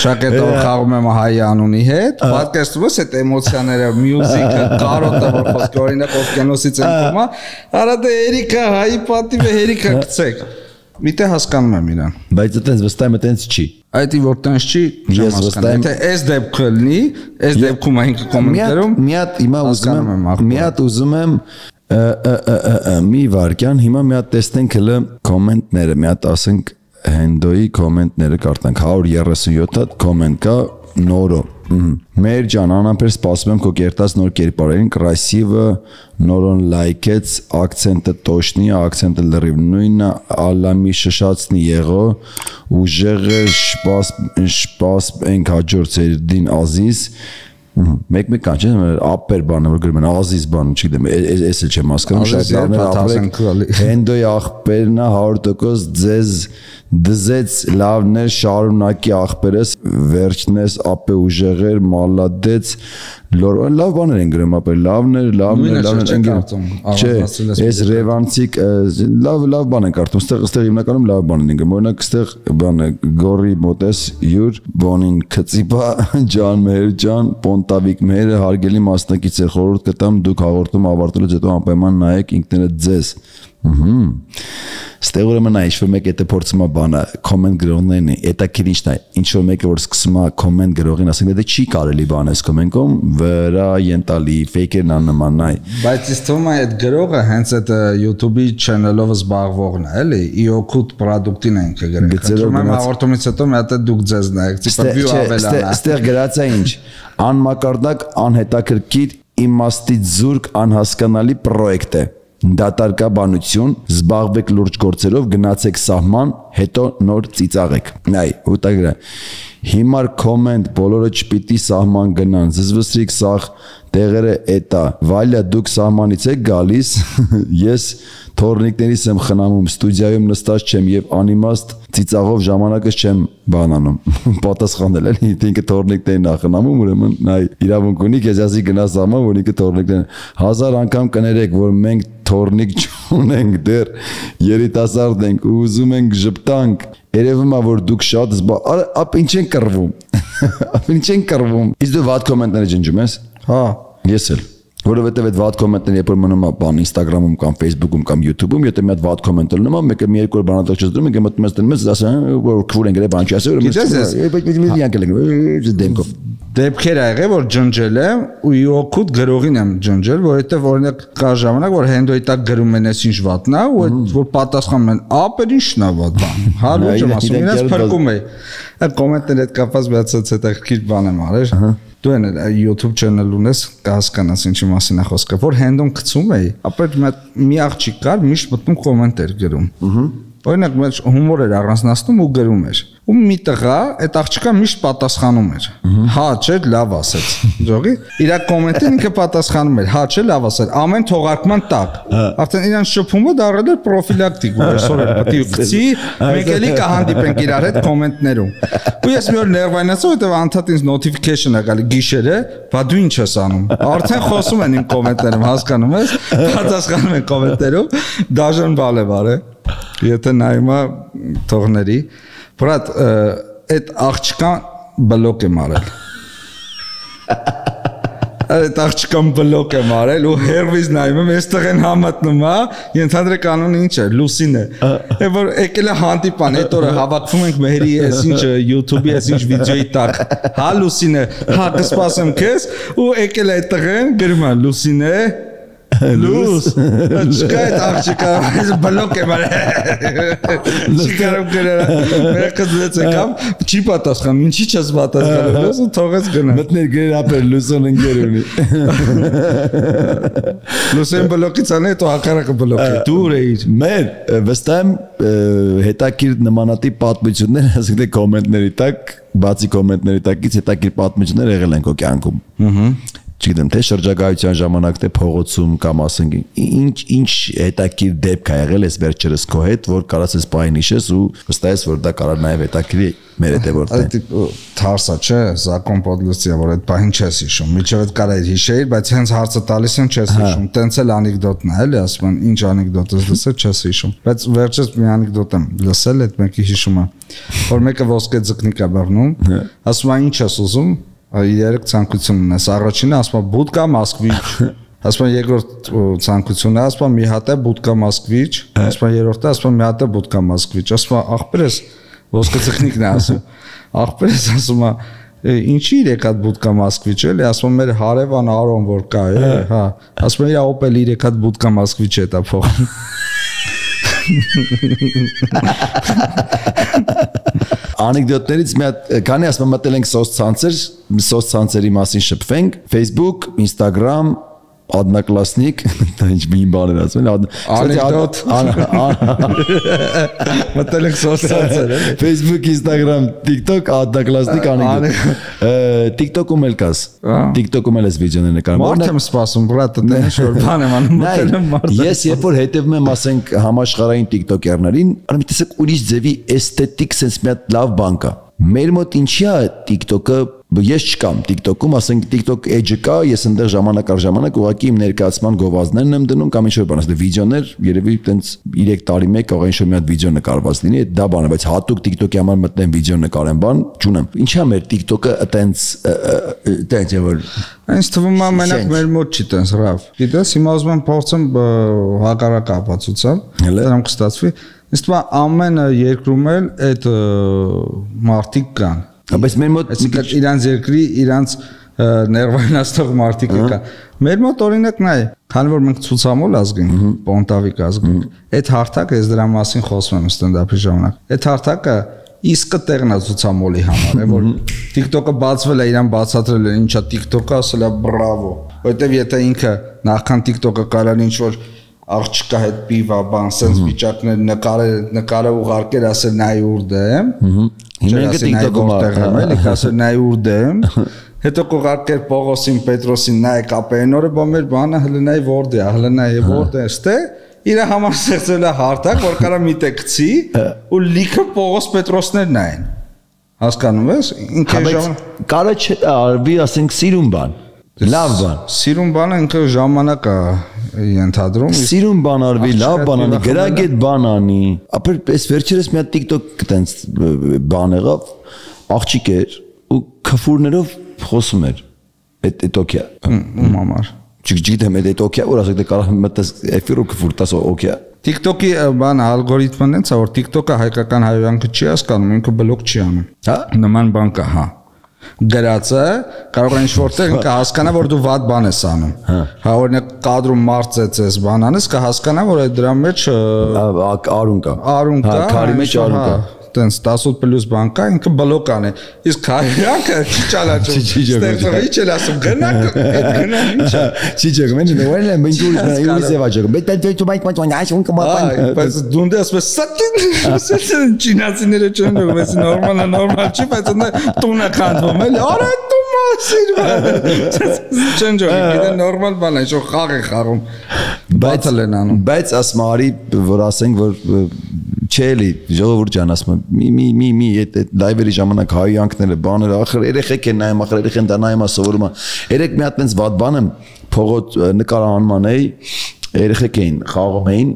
ճակետով խաղում եմ հայ անունի հետ, պատկերացնում ես այդ էմոցիաները, մյուզիկը, կարոտը որ խոսքը օրինակ օվկիանոսից են կոմա, արա դե Երիկա հայի պատիվը հերիկա գցեք։ Միտե հասկանում եմ իրան։ Բայց այտենց վստահ եմ այտենց չի։ Այդ որ տենց չի, չեմ հասկանում։ Եթե այս դեպքը լինի, այս դեպքում այն կոմենտերում մի հատ հիմա ուզում եմ, մի հատ ուզում եմ մի վարքյան, հիմա մի հատ տեսնենք հələ կոմենտները, մի հատ ասենք Հենդոյի կոմենտները կարդանք, հարյուր երեսունյոթ հատ կոմենտ կա նորո։ Մեր ջան, անամբեր սպասում եմ քո կերտած նոր կերպարերին, красиво, նորոն լայքեց, акցենտը տոշնի, акցենտը լրիվ նույնը, ալամի շշացնի եղո, ուժեղը շպաս շպաս ենք հաջորդ սերդին ազիզ, մեկ-մեկ կան չէ, ապեր բանը որ գրում են ազիզ բան, չգիտեմ, ես էլ չեմ հասկանում, շատ լավներ ապրեք, Հենդոյի աղբերն է հարյուր տոկոս ձեզ դզեց լավներ շարունակի աղբերս վերջնես ապե ուժեղեր մալադեց լավ բաներ են գրում ապե լավներ լավներ լավներ են գրում չէ ես ռևանցիկ լավ լավ բան են կարդում ստեղ ստեղ հիմնականում լավ բան են գրում օրինակ ստեղ բանը գորի մոտես յուր բոնին քծիպա ջան մեր ջան պոնտավիկ մերը հարգելի մասնակից է խորհուրդ կտամ դուք հաղորդում ավարտելուց հետո անպայման նայեք ինքներդ ձեզ Ստեղ ուրեմն նա ինչ-որ մեկ եթե փորձում է բանը կոմենտ գրողներն է, դա քիչ է, ինչ-որ մեկը որ սկսում է կոմենտ գրողին ասենք դա չի կարելի բան էս կոմենտում վրա ենտալի ֆեյքերն աննման նայ Բայց իս թվում է այդ գրողը հենց այդ YouTube-ի channel-ով զբաղվողն է, էլի, իօքուտ product-ին է ինքը գրել։ Խնդրում եմ հաղորդումից հետո մի հատ դուք ձեզ նայեք, տիպա view ավելանա։ Ստեղ գրած է ինչ, անմակարդակ, անհետաքրքիր, իմաստի զուրկ, անհասկանալի պրոյեկտ է։ Դատարկաբանություն, զբաղվեք լուրջ գործերով, գնացեք սահման, հետո նոր ծիծաղեք։ Այ, ուտագրա։ Հիմար կոմենտ, բոլորը չպիտի սահման գնան, զզվսրիկ սաղ տեղերը էտա, վալյա դուք սահմանից եք գալիս, ես թորնիկներից եմ խնամում, ստուդիայում նստած չեմ և անիմաստ ծիծաղով ժամանակս չեմ բանանում, պատասխանել էլի, ինքը թորնիկներին ախնամում, ուրեմն նայ իրավունք ունի, քեզ ասի գնա սահման, որ ինքը թորնիկներին, հազար անգամ կներեք, որ մենք թորնիկ չունենք դեռ, երիտասարդ ենք ու ուզում ենք ժպտանք, երևում է, որ դուք շատ զբաղ, ապ ինչ են կռվում, ապ ինչ են կռվում, իսկ դու վատ կոմենտները ջնջում ես, հա, ես էլ Որովհետև այդ վատ կոմենտները երբ որ մնում է բան Instagram-ում կամ Facebook-ում կամ YouTube-ում, եթե մի հատ վատ կոմենտ լինում է, մեկը մի երկու օր բանատող չզդրում, ինքը մտնում է դնում ես, ասում որ քֆուր են գրել, բան չի ասել, ուրեմն մի անկել են դեմքով։ Դեպքեր ա եղել, որ ջնջել եմ ու իօքուտ գրողին եմ ջնջել, որովհետև օրինակ կա ժամանակ, որ Հենդոյի տակ գրում են այս ինչ վատն է, ու այդ որ պատասխանում են, ապեր ինչն է վատ բան։ Հա լուրջ եմ ասում, իրաց փրկում է։ Այդ կոմենտները հետ կապված մի հատ հետաքրքիր բան եմ արել։ Դու են YouTube channel ունես, կհասկանաս ինչի մասին է խոսքը, որ Հենդոն գցում էի, ապա մի աղջիկ կար, միշտ մտնում կոմենտեր գրում։ օրինակ մեր հումոր էր առանձնացնում ու գրում էր։ Ու մի տղա այդ աղջիկը միշտ պատասխանում էր։ Հա, չէ, լավ ասեց։ Ժողի, իր կոմենտին ինքը պատասխանում էր։ Հա, չէ, լավ ասել։ Ամեն թողարկման տակ։ Արդեն իրան շփումը դառել էր պրոֆիլակտիկ, որ այսօր էլ պետք է գցի, մենք էլի կհանդիպենք իրար հետ կոմենտներում։ Ու ես մի օր ներվայնացա, որտեղ անդադ ինձ notification է գալի գիշերը, բա դու ինչ ես անում։ Արդեն խոսում են իմ կոմենտներում, հասկանում ես, պատասխանում են կոմենտներում, դաժան բալ է բարե։ Եթե նայում է թողների, բրատ, այդ աղջկան բլոկ եմ արել։ Այդ աղջկան բլոկ եմ արել ու հերվիզ նայում եմ, այս տղեն համատնում է, ենթադրեք անունը ինչ է, Լուսին է։ Է որ եկել է հանդիպան, այդ օրը հավաքվում ենք Մեհերի այս ինչ YouTube-ի այս ինչ վիդեոյի տակ։ Հա Լուսին է, հա կսպասեմ քեզ ու եկել է այդ տղեն, գրում է Լուսին է, Լուս, չկա այդ աղջիկը, այս բլոկ եմ արել։ Չկարում գրել, մերկը դեց եկամ, չի պատասխանում, ինչի չես պատասխանում, լուս ու թողեց գնա։ Մտներ գրել ապեր Լուսոն ընկեր ունի։ Լուսեն բլոկից անը, հետո հակառակը բլոկի, դուր էիր։ Մեր վստահ եմ հետաքրքիր նմանատիպ պատմություններ, ասենք թե կոմենտների տակ, բացի կոմենտների տակից հետաքրքիր պատմություններ եղել են քո կյանքում։ Ահա չգիտեմ թե շրջագայության ժամանակ թե փողոցում կամ ասենք ինչ ինչ հետաքրքիր դեպք ա եղել էս վերջերս քո հետ որ կարաս ես պայն հիշես ու վստահ ես որ դա կարող նաև հետաքրքիր մեր հետևորդ է թարսա չէ Զակոն Պոդլուսյա որ այդ պահին չես հիշում միջև այդ կարա հիշեիր բայց հենց հարցը տալիս են չես հիշում տենց էլ անեկդոտն է էլի ասում են ինչ անեկդոտ ես լսել չես հիշում բայց վերջից մի անեկդոտ եմ լսել այդ մեկի հիշում է որ մեկը ոսկե ձկնիկ է բռնում ասում է ինչ ես ուզում Երեք ցանկություն ունես առաջինը ասում է բուդկա Մոսկվիչ ասում է երկրորդ ցանկությունը ասում է մի հատ է բուդկա Մոսկվիչ ասում է երրորդը ասում է մի հատ է բուդկա Մոսկվիչ ասում է ախպերս ոսկե ցխնիկն է ասում ախպերս ասում է ինչի երեք հատ բուդկա Մոսկվիչ էլի ասում է մեր հարևան Արոն որ կա է հա ասում է իր Opel երեք հատ բուդկա Մոսկվիչ է տա փոխում Անեկդոտներից մի հատ քանի ասում մտել ենք սոցցանցեր, սոցցանցերի մասին շփվենք, Facebook, Instagram, Одноклассник, դա ինչ մի բան էր ասում, անեկդոտ, մտել ենք սոցցանցեր, էլի, Facebook, Instagram, TikTok, Одноклассник, անեկդոտ, TikTok-ում էլ կաս, TikTok-ում էլ ես վիդեոներ նկարում, մարդ եմ սպասում, բրատը, դե ինչ որ բան եմ անում, մտել եմ մարդ, ես երբ որ հետևում եմ, ասենք համաշխարհային TikTok-երներին, արի տեսեք ուրիշ ձևի էսթետիկ sense մի հատ լավ բան կա, մեր մոտ ինչի է TikTok-ը Ես չկամ TikTok-ում, ասենք TikTok edge կա, ես այնտեղ ժամանակ առ ժամանակ ուղղակի իմ ներկայացման գովազդներն եմ դնում կամ ինչ-որ բան, ասես վիդեոներ, երևի տենց երեք տարի մեկ կարող ինչ-որ մի հատ վիդեո նկարված լինի, դա բանը, բայց հատուկ TikTok-ի համար մտնեմ վիդեո նկարեմ բան, չունեմ։ Ինչա՞ մեր TikTok-ը տենց տենց է որ Ինձ թվում է մենակ մեր մոտ չի տենց ռավ։ Գիտես, հիմա ուզում եմ փորձեմ հակառակ ապացուցեմ, դրանք կստացվի։ Ինձ թվում է ամեն երկրում էլ այդ մարտիկ կան Բայց մեր մոտ իրանց երկրի իրանց ներվայնացող մարդիկ կա։ Մեր մոտ օրինակ նայ, քանի որ մենք ցուցամոլ ազգ ենք, պոնտավիկ ազգ ենք, այդ հարթակը ես դրա մասին խոսում եմ ստենդափի ժամանակ։ Այդ հարթակը իսկը տեղն է ցուցամոլի համար, է որ TikTok-ը բացվել է, իրան բացատրել է, ինչա TikTok-ը ասել է բրավո։ Որտեվ եթե ինքը նախքան TikTok-ը կարան ինչ որ աղջկա հետ պիվա բան, sense վիճակներ նկարել, նկարը ուղարկել, ասել նայ ուր դեմ։ Հիմա ինքը TikTok-ում է, էլի ասել նայ ուր դեմ։ Հետո կուղարկել Պողոսին, Պետրոսին նայ կապենորը, բա մեր բանը հələ նայ որդ է, հələ նայ որդ է, ստե։ Իր համար ստեղծել է հարթակ, որ կարա մի տեղ գցի ու լիքը Պողոս Պետրոսներ նայեն։ Հասկանում ես։ Ինքը ժամանակ կարա չարվի, ասենք սիրուն բան։ Լավ բան։ Սիրուն բանը ինքը ժամանակ է ենթադրում։ Սիրուն բան արվի, լավ բան անի, գրագետ բան անի։ Ապա այս վերջերս մի հատ TikTok տենց բան եղավ, աղջիկ էր ու քֆուրներով խոսում էր։ Այդ այդ օքեա։ Ում համար։ Չգիտեմ, այդ օքեա, որ ասեք դե կարող մտես էֆիրը քֆուր տաս օքեա։ TikTok-ի բան ալգորիթմն է, որ TikTok-ը հայկական հայրենիքը չի հասկանում, ինքը բլոկ չի անում։ Հա։ Նման բան կա, հա։ Գրածը կարող է ինչ-որտեղ կհասկանա որ դու վատ բան ես անում։ Հա օրինակ կադրում մարծեց ես բան անես կհասկանա որ այդ դրա մեջ արուն կա։ Արուն կա։ Քարի մեջ արուն կա։ տենց տասոթ պլյուս բան կա, ինքը բլոկան է։ Իսկ հայրանքը չի ճանաչում։ Ստեղծողի չել ասում գնա, գնա ինչ է։ Չի ջոգում, ինչ է, որն է, մենք դուրս նա յուս եվա ջոգում։ Բայց դու դու մայք մայք այս ունկա մատան։ Բայց դու դե ասում ես սատին, չինացիները չեն դու, ես նորմալ է, նորմալ չի, բայց նա տունը քանդվում էլի։ Արա դու մասիրվա։ Չեն ջոգում, գիտե նորմալ բան է, շո խաղ է խաղում։ Բայց բայց ասում արի, որ ասենք որ չելի ժողովուրդ ջան ասում մի մի մի մի այդ լայվերի ժամանակ հայյանքները բաները ախր երեխեք են նայում ախր երեխեն դա նայում սովորում է երեք մի հատ այնց վատ բան եմ փողոց նկարահանման էի երեխեք էին խաղում էին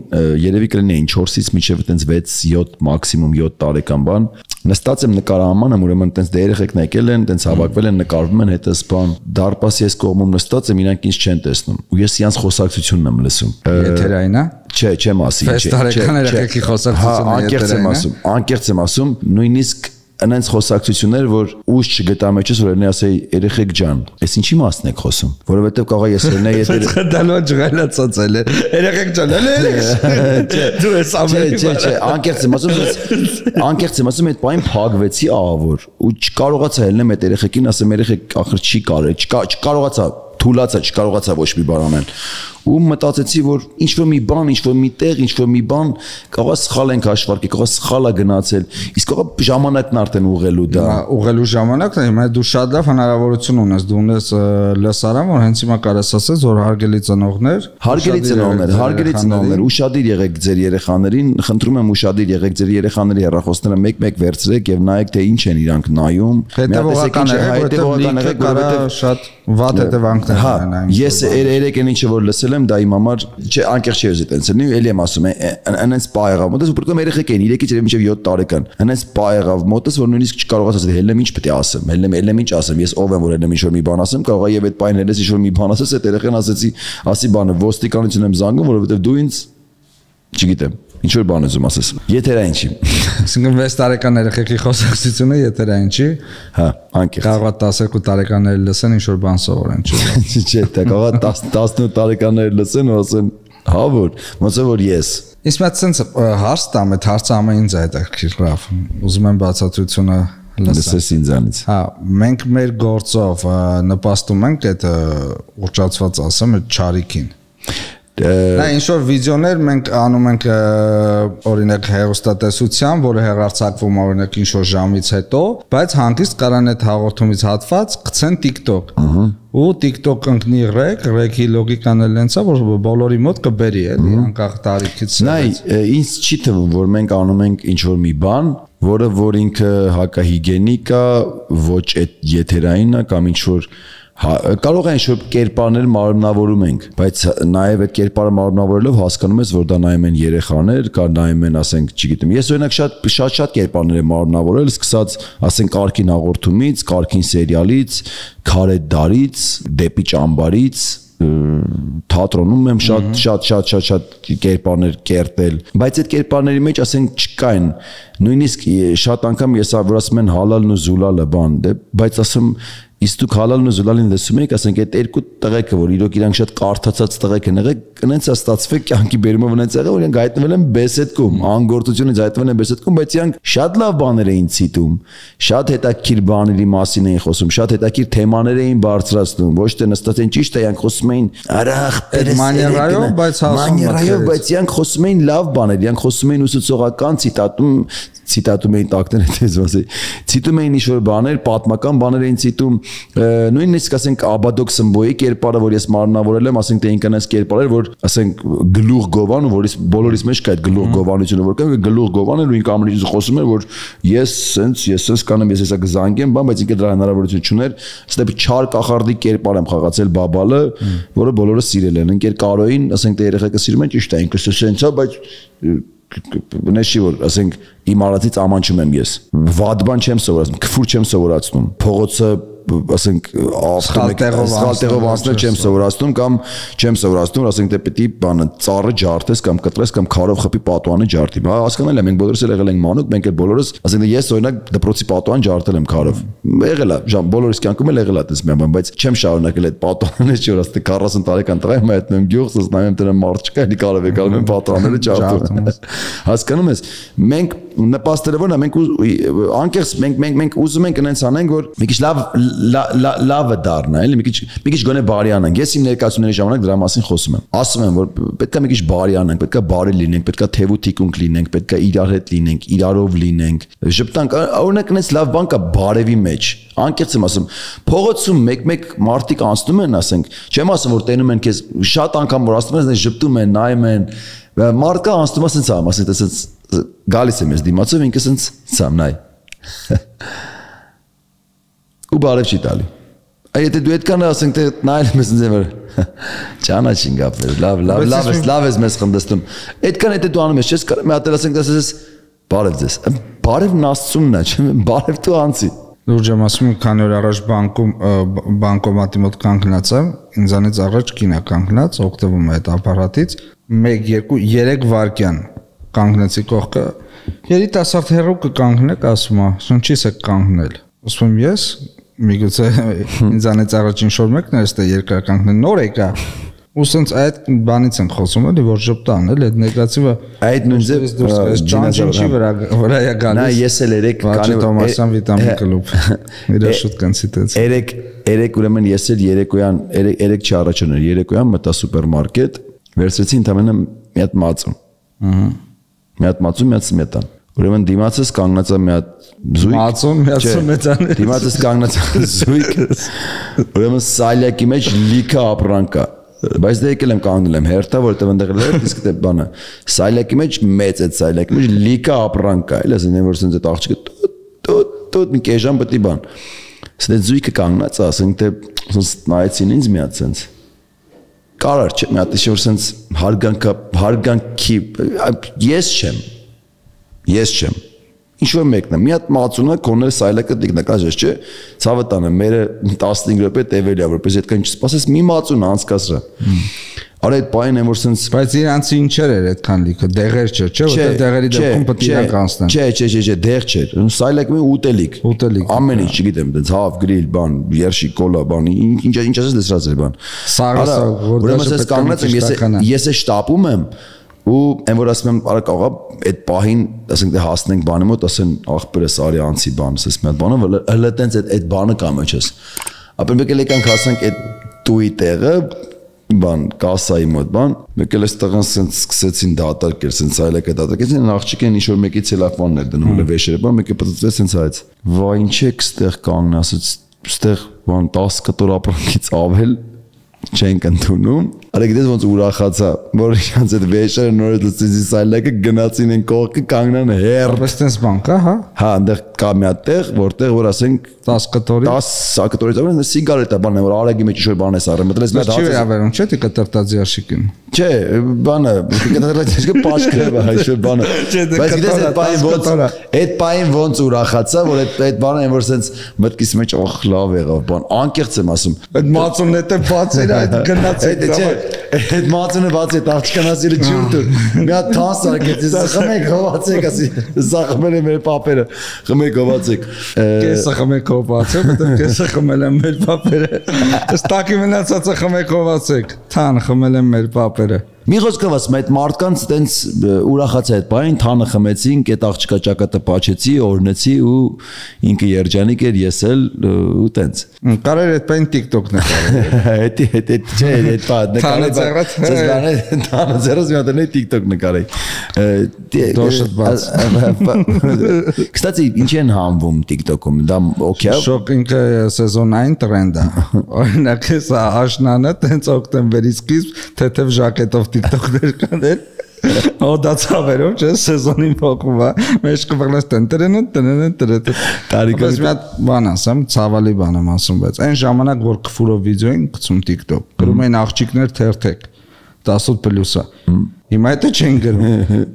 երևի կլինեին չորսից մինչև այտենց վեց յոթ մաքսիմում յոթ տարեկան բան նստած եմ նկարահանման եմ ուրեմն այտենց դե երեխեքն եկել են այտենց հավաքվել են նկարվում են հետս բան դարպասի այս կողմում նստած եմ իրանք ինձ չեն տեսնում ու ես իրանց խոսակցությունն եմ լսում եթերային է չէ չեմ ասի չէ տարեկան երեխեքի խոսակցությունը եթերային է անկեղծ եմ ասում անկեղծ եմ ասում նույնիսկ այնց խոսակցություններ որ ուժ չգտա մեջս որ նա ասեի երեխեք ջան ես ինչի մասն եք խոսում որովհետեւ կարող է ես երնա եթե դալո ջղալացած էլ երեխեք ջան երեխեք դու ես ամենի չէ չէ անկեղծ եմ ասում անկեղծ եմ ասում այդ պայն փակվեցի ահավոր ու չկարողացա ելնեմ այդ երեխեքին ասեմ երեխեք ախր չի կարել չկարողացա թուլացա չկարողացա ոչ մի բան անել ու մտածեցի որ ինչ որ մի բան ինչ որ մի տեղ ինչ որ մի բան կարող է սխալ ենք հաշվարկի կարող է սխալ է գնացել իսկ կարող է ժամանակն արդեն ուղղելու դա ուղղելու ժամանակն է հիմա դու շատ լավ հնարավորություն ունես դու ունես լսարան որ հենց հիմա կարես ասես որ հարգելի ծնողներ հարգելի ծնողներ հարգելի ծնողներ ուշադիր եղեք ձեր երեխաներին խնդրում եմ ուշադիր եղեք ձեր երեխաների հեռախոսները մեկ-մեկ վերցրեք եւ նայեք թե ինչ են իրանք նայում հետեւողական եղեք որովհետեւ կարա շատ վատ հետևանքներ ունենան ես երեք այն ինչը որ լսել եմ դա իմ համար չէ անկեղծ չի ուզի տենց լինի էլի եմ ասում այնց պա եղավ մոտս ու պրոկում երեխեք էին երեքից երբ մինչև յոթ տարեկան այնց պա եղավ մոտս որ նույնիսկ չկարողացա հելեմ ինչ պետք է ասեմ հելեմ հելեմ ինչ ասեմ ես ով եմ որ հելեմ ինչ որ մի բան ասեմ կարող է եւ այդ պայն հելես ինչ որ մի բան ասես այդ երեխան ասեցի ասի բանը ոստիկանություն եմ զանգում որովհետեւ դու ինձ չգիտեմ ինչ որ բան ուզում ասես եթերային չի այսինքն վեց տարեկան երեխեքի խոսակցությունը եթերային չի հա անկեղծ կարող է տասնյոթ տարեկանները լսեն ինչ որ բան սովորեն չի չէ դա կարող է տասնութ տարեկանները լսեն ու ասեն հա որ ոնց է որ ես Իսկ մա ցենց հարց տամ այդ հարցը ամեն ինձ է հետաքրքիր լավ ուզում եմ բացատրությունը լսես ինձանից հա մենք մեր գործով նպաստում ենք այդ ուռճացված ասեմ այդ չարիքին Նա ինչ որ վիդեոներ մենք անում ենք օրինակ հեռուստատեսության, որը հեռարձակվում է օրինակ ինչ որ ժամից հետո, բայց հանգիստ կարան այդ հաղորդումից հատված գցեն TikTok։ Ու TikTok ընկնի ռեկ, ռեկի լոգիկան էլ այնց է, որ բոլորի մոտ կբերի էլի, անկախ տարիքից։ Նայ, ինձ չի թվում, որ մենք անում ենք ինչ որ մի բան, որը որ ինքը հակահիգենիկ է, ոչ այդ եթերային է կամ ինչ որ կարող է ինչ-որ կերպարներ մարմնավորում ենք, բայց նաև այդ կերպարը մարմնավորելով հասկանում ես, որ դա նայում են երեխաներ, կամ նայում են, ասենք, չգիտեմ, ես օրինակ շատ շատ շատ կերպարներ եմ մարմնավորել, սկսած, ասենք, կարգին հաղորդումից, կարգին սերիալից, քարե դարից, դեպի ճամբարից, թատրոնում եմ շատ շատ շատ շատ շատ կերպարներ կերտել, բայց այդ կերպարների մեջ, ասենք, չկային, նույնիսկ շատ անգամ ես որ ասում են հալալն ու զուլալը բան, բայց ասում Իսկ դուք հալալն ու զուլալին լսում եք, ասենք այդ երկու տղեկը, որ իրոք իրանք շատ կարդացած տղեկ են եղել, կնենց է ստացվել կյանքի բերումով ունենց եղել, որ իրանք հայտնվել են բեսեդկում, անգործությունից հայտնվել են բեսեդկում, բայց իրանք շատ լավ բաներ էին ցիտում, շատ հետաքրքիր բաների մասին էին խոսում, շատ հետաքրքիր թեմաներ էին բարձրացնում, ոչ թե նստած են ճիշտ է, իրանք խոսում էին արախ, մանիերայով, բայց հասում մանիերայով, բայց իրանք խոսում էին լավ բաներ, իրանք խոսում էին ուսուցողական ցիտատում ցիտատում էին տակները դες ասի ցիտում էին ինչ-որ բաներ պատմական բաներ էին ցիտում նույնիսկ ասենք Աբադոկ Սմբոյի կերպարը որ ես մարմնավորել եմ ասենք թե ինքնանց կերպարը որ ասենք գլուխ գովան որից բոլորիս մեջ կա այդ գլուխ գովանությունը որ կա գլուխ գովանը ու ինքը ամենից խոսում էր որ ես սենց ես սենց կանեմ ես հեսա գզանգեմ բան բայց ինքը դրա հնարավորություն չուներ ստեպ չար կախարդի կերպար եմ խաղացել բաբալը որը բոլորը սիրել են ընկեր Կարոյին ասենք թե երեխեքը սիրում են ճիշտ է ինքը սենց է բայց Նեշի որ ասենք իմ արածից ամանչում եմ ես վատ բան չեմ սովորացնում քֆուր չեմ սովորացնում փողոցը ասենք ասֆալտերով անցնել չեմ սովորացնում կամ չեմ սովորացնում ասենք թե պետք է բանը ծառը ջարդես կամ կտրես կամ քարով խփի պատուանը ջարդի հա հասկանալ եմ մենք բոլորս էլ եղել ենք մանուկ մենք էլ բոլորս ասենք ես օրինակ դպրոցի պատուան ջարդել եմ քարով եղել է ժամ բոլորիս կյանքում էլ եղել է դες մի բան բայց չեմ շարունակել այդ պատուանը չէ որ ասենք քառասուն տարեկան տղա եմ այդնում գյուղս նայում դրան մարդ չկա էլի կարով եկալ եմ պատուանները ջարդում հասկանում ես մենք նպաստելը որն է, մենք անկեղծ մենք մենք մենք ուզում ենք այնց անենք, որ մի քիչ լավ լավը դառնա, էլի, մի քիչ մի քիչ գոնե բարի անենք։ Ես իմ ներկայացումների ժամանակ դրա մասին խոսում եմ։ Ասում եմ, որ պետք է մի քիչ բարի անենք, պետք է բարի լինենք, պետք է թեվու թիկունք լինենք, պետք է իրար հետ լինենք, իրարով լինենք։ Ժպտանք, օրինակ այնց լավ բան կա բարևի մեջ։ Անկեղծ եմ ասում, փողոցում մեկ-մեկ մարդիկ անցնում են, ասենք, չեմ ասում, որ տենում են քեզ շատ անգամ որ ասում են, ժպտում են, նայում են, մարդկա անցնում ասենց ամ, ասենք, ասենց գալիս եմ ես դիմացով, ինքս ասենց ցամ նայ։ Ու բարև չի տալի։ Այ եթե դու այդքան ասենք, թե նայել ես ինձ որ ճանաչին գապեր, լավ, լավ, լավ ես, լավ ես մեզ խնդստում։ Այդքան եթե դու անում ես, չես կարող մի հատ ասենք, ասես բարև ձեզ։ Բարևն Աստծունն է, չէ՞, բարև դու անցի։ Լուրջ եմ ասում, քանի օր առաջ բանկում բանկոմատի մոտ կանգնած եմ, ինձանից առաջ կինա կանգնած, օգտվում է այդ ապարատից, մեկ, երկու, երեք վայրկյան կանգնեցի կողքը, երիտասարդ հեռու կկանգնեք, ասում է, շնչիս եք կանգնել։ Ասում եմ ես, միգուցե ինձանից առաջ ինչ-որ մեկն է, այստեղ երկար կանգնել, նոր եկա։ Ու սենց այդ բանից են խոսում, էլի, որ ժպտան, էլի, այդ նեգատիվը այդ նույն ձև ճանճի վրա վրա է գալիս։ Նա ես էլ երեք Վաչե Թոմասյան վիտամին կլուբ։ Իրա շուտ կոնցիտեց։ Երեք երեք ուրեմն ես էլ երեկոյան երեք չի առաջանում, երեկոյան մտա սուպերմարկետ, վերցրեցի ընդամենը մի հատ մածուն։ Ահա։ Մի հատ մածուն, մի հատ սմետան։ Ուրեմն դիմացս կանգնած է մի հատ զույգ։ Մածուն, մի հատ սմետան։ Դիմացս կանգնած է զույգ։ Ուրեմն սալյակի մեջ լիքը ապրանք կա։ Բայց դե եկել եմ կանգնել եմ հերթա, որտեղ այնտեղ էլ իսկ դե բանը սայլակի մեջ մեծ է սայլակի մեջ լիքը ապրանք կա, էլ ասեն որ սենց այդ աղջիկը տոտ տոտ մի կեժան պետք է բան։ Սենց զույգը կանգնած է, ասենք թե սենց նայեցին ինձ մի հատ սենց կարար չէ, մի հատ ինչ որ սենց հարգանքը հարգանքի ես չեմ։ Ես չեմ։ Ինչ որ մեկն է, մի հատ մածունը կոնել սայլակը տիկնակած չէ, ցավը տանը մերը տասնհինգ րոպե տևելի է, որպես այդքան չսպասես մի մածուն անցկացրա։ Արա այդ բանն է որ սենց բայց իրանցի ինչեր էր այդքան լիքը, դեղեր չէ, չէ, որտեղ դեղերի դեպքում պետք է իրանք անցնեն։ Չէ, չէ, չէ, չէ, դեղ չէր։ Սայլակը մի ուտելիք։ Ուտելիք։ Ամեն ինչ, չգիտեմ, դից հավ, գրիլ, բան, երշի, կոլա, բան, ինչ ինչ ասես դեսրած էր բան։ Սարը, որտեղ ես կանգնած եմ, ես ես է շտապում եմ ու այն որ ասում եմ արա կարողա այդ պահին ասենք դե հասնենք բանի մոտ ասեն աղբերս արի անցի բան ասես մի հատ բանը հələ տենց այդ այդ բանը կա մեջս ապա մեկ էլ եկանք հասանք այդ տուի տեղը բան կասայի մոտ բան մեկ էլ այստեղն սենց սկսեցին դատարկել սենց այլակը դատարկեցին աղջիկն ինչ որ մեկի ցելոֆանն էր դնում հələ վեշերը բան մեկը պատծեց սենց հայց վայ ինչ եք ստեղ կանգն ասեց ստեղ բան տասը կտոր ապրանքից ավել չենք ընդունում Արա գիտես ոնց ուրախացա որ իրանց այդ վեշերը նորից լցեցի սայլակը գնացին են կողքը կանգնան հեր Բայց տես բան կա հա Հա այնտեղ կա մի հատ տեղ որտեղ որ ասենք տասը կտորի տասը կտորից ավելի սիգարետա բանն է որ արագի մեջ ինչ-որ բան է սարը մտլես մի հատ Չի վերաբերում չէ՞ դի կտրտած ящикին Չէ բանը կտրտած ящիկը պաշկրը բա ինչ-որ բանը Բայց գիտես այդ պայն ոնց այդ պայն ոնց ուրախացա որ այդ այդ բանը որ սենց մտքիս մեջ օխ լավ եղավ բան անկեղծ եմ ասում Այդ մածունն է բացել այդ գնացել Այդ մածունը բացի այդ աղջկան ասիլը ջուր դուր մի հատ թանց արկեց խմեք հովացեք ասի սա խմել է մեր պապերը խմեք հովացեք կեսը խմեք հովացեք հետո կեսը խմել են մեր պապերը ստակի մնացածը խմեք հովացեք թան խմել են մեր պապերը Մի խոսքով ասում այդ մարդկանց տենց ուրախացա այդ բանին թանը խմեցինք այդ աղջկա ճակատը պաչեցի օրնեցի ու ինքը երջանիկ էր ես էլ ու տենց Կարեր այդ բան TikTok նկարել Էդի էդ չէ այդ բան նկարել թանը ձեռս մի հատ TikTok նկարել Դոշտ բաց Կստացի ինչ են համվում TikTok-ում դա օքեյ Շոկ ինքը սեզոնային տրենդ է Օրինակ հեսա աշնանը տենց օկտեմբերից սկիզբ թեթև ժակետով TikTok-ներ կանել Օ դա ցավերով չէ սեզոնին փոխվում է մեջ կվղլես տենտերեն տենեն տենեն տարիքից մի հատ բան ասեմ ցավալի բան եմ ասում բայց այն ժամանակ որ քֆուրով վիդեո են գցում TikTok գրում են աղջիկներ թերթեք տասոթ պլյուսա Հիմա դա չեն գրում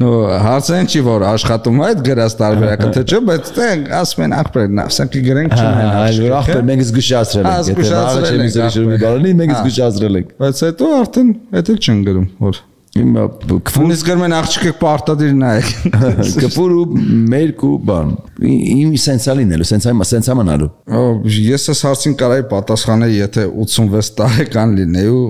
նո հարցեն չի որ աշխատում այդ գրած տարբերակը թե չէ բայց տեն ասում են ախպեր ասենք գրենք չնայեն այլ որ ախպեր մենք զգուշացրել ենք եթե առաջ եմ զգուշացրել ենք մենք զգուշացրել ենք բայց հետո արդեն դա չեն գրում որ Հիմա քֆուրից գրմեն աղջիկը պարտադիր նայեք։ Քֆուր ու մերկ ու բան։ Իմ սենսա լինելու, սենսա իմ սենսա մնալու։ Ես այս հարցին կարայի պատասխանել, եթե ութսունվեց տարեկան լինեի ու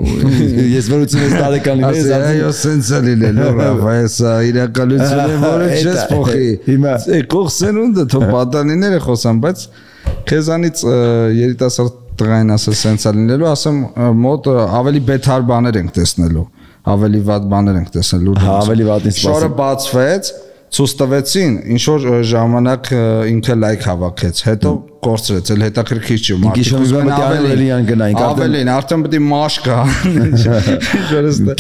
ես որ ութսունվեց տարեկան լինեի, այո, սենսա լինելու, Ռաֆայեսա, իրականություն է, որը չես փոխի։ Հիմա եկող սերունդը թող պատանիները խոսան, բայց քեզանից երիտասարդ տղային ասել սենսա լինելու, ասեմ մոտ ավելի բեթար բաներ ենք տեսնելու, ավելի վատ բաներ ենք տեսնելու։ Ավելի վատին սպասում։ Շորը բացվեց, ցույց տվեցին, ինչ որ ժամանակ ինքը լայք հավաքեց, հետո կորցրեց, էլ հետաքրքիր չի, մարդիկ ավելի անգնային, ավելին, արդեն պետք է մաշ կա,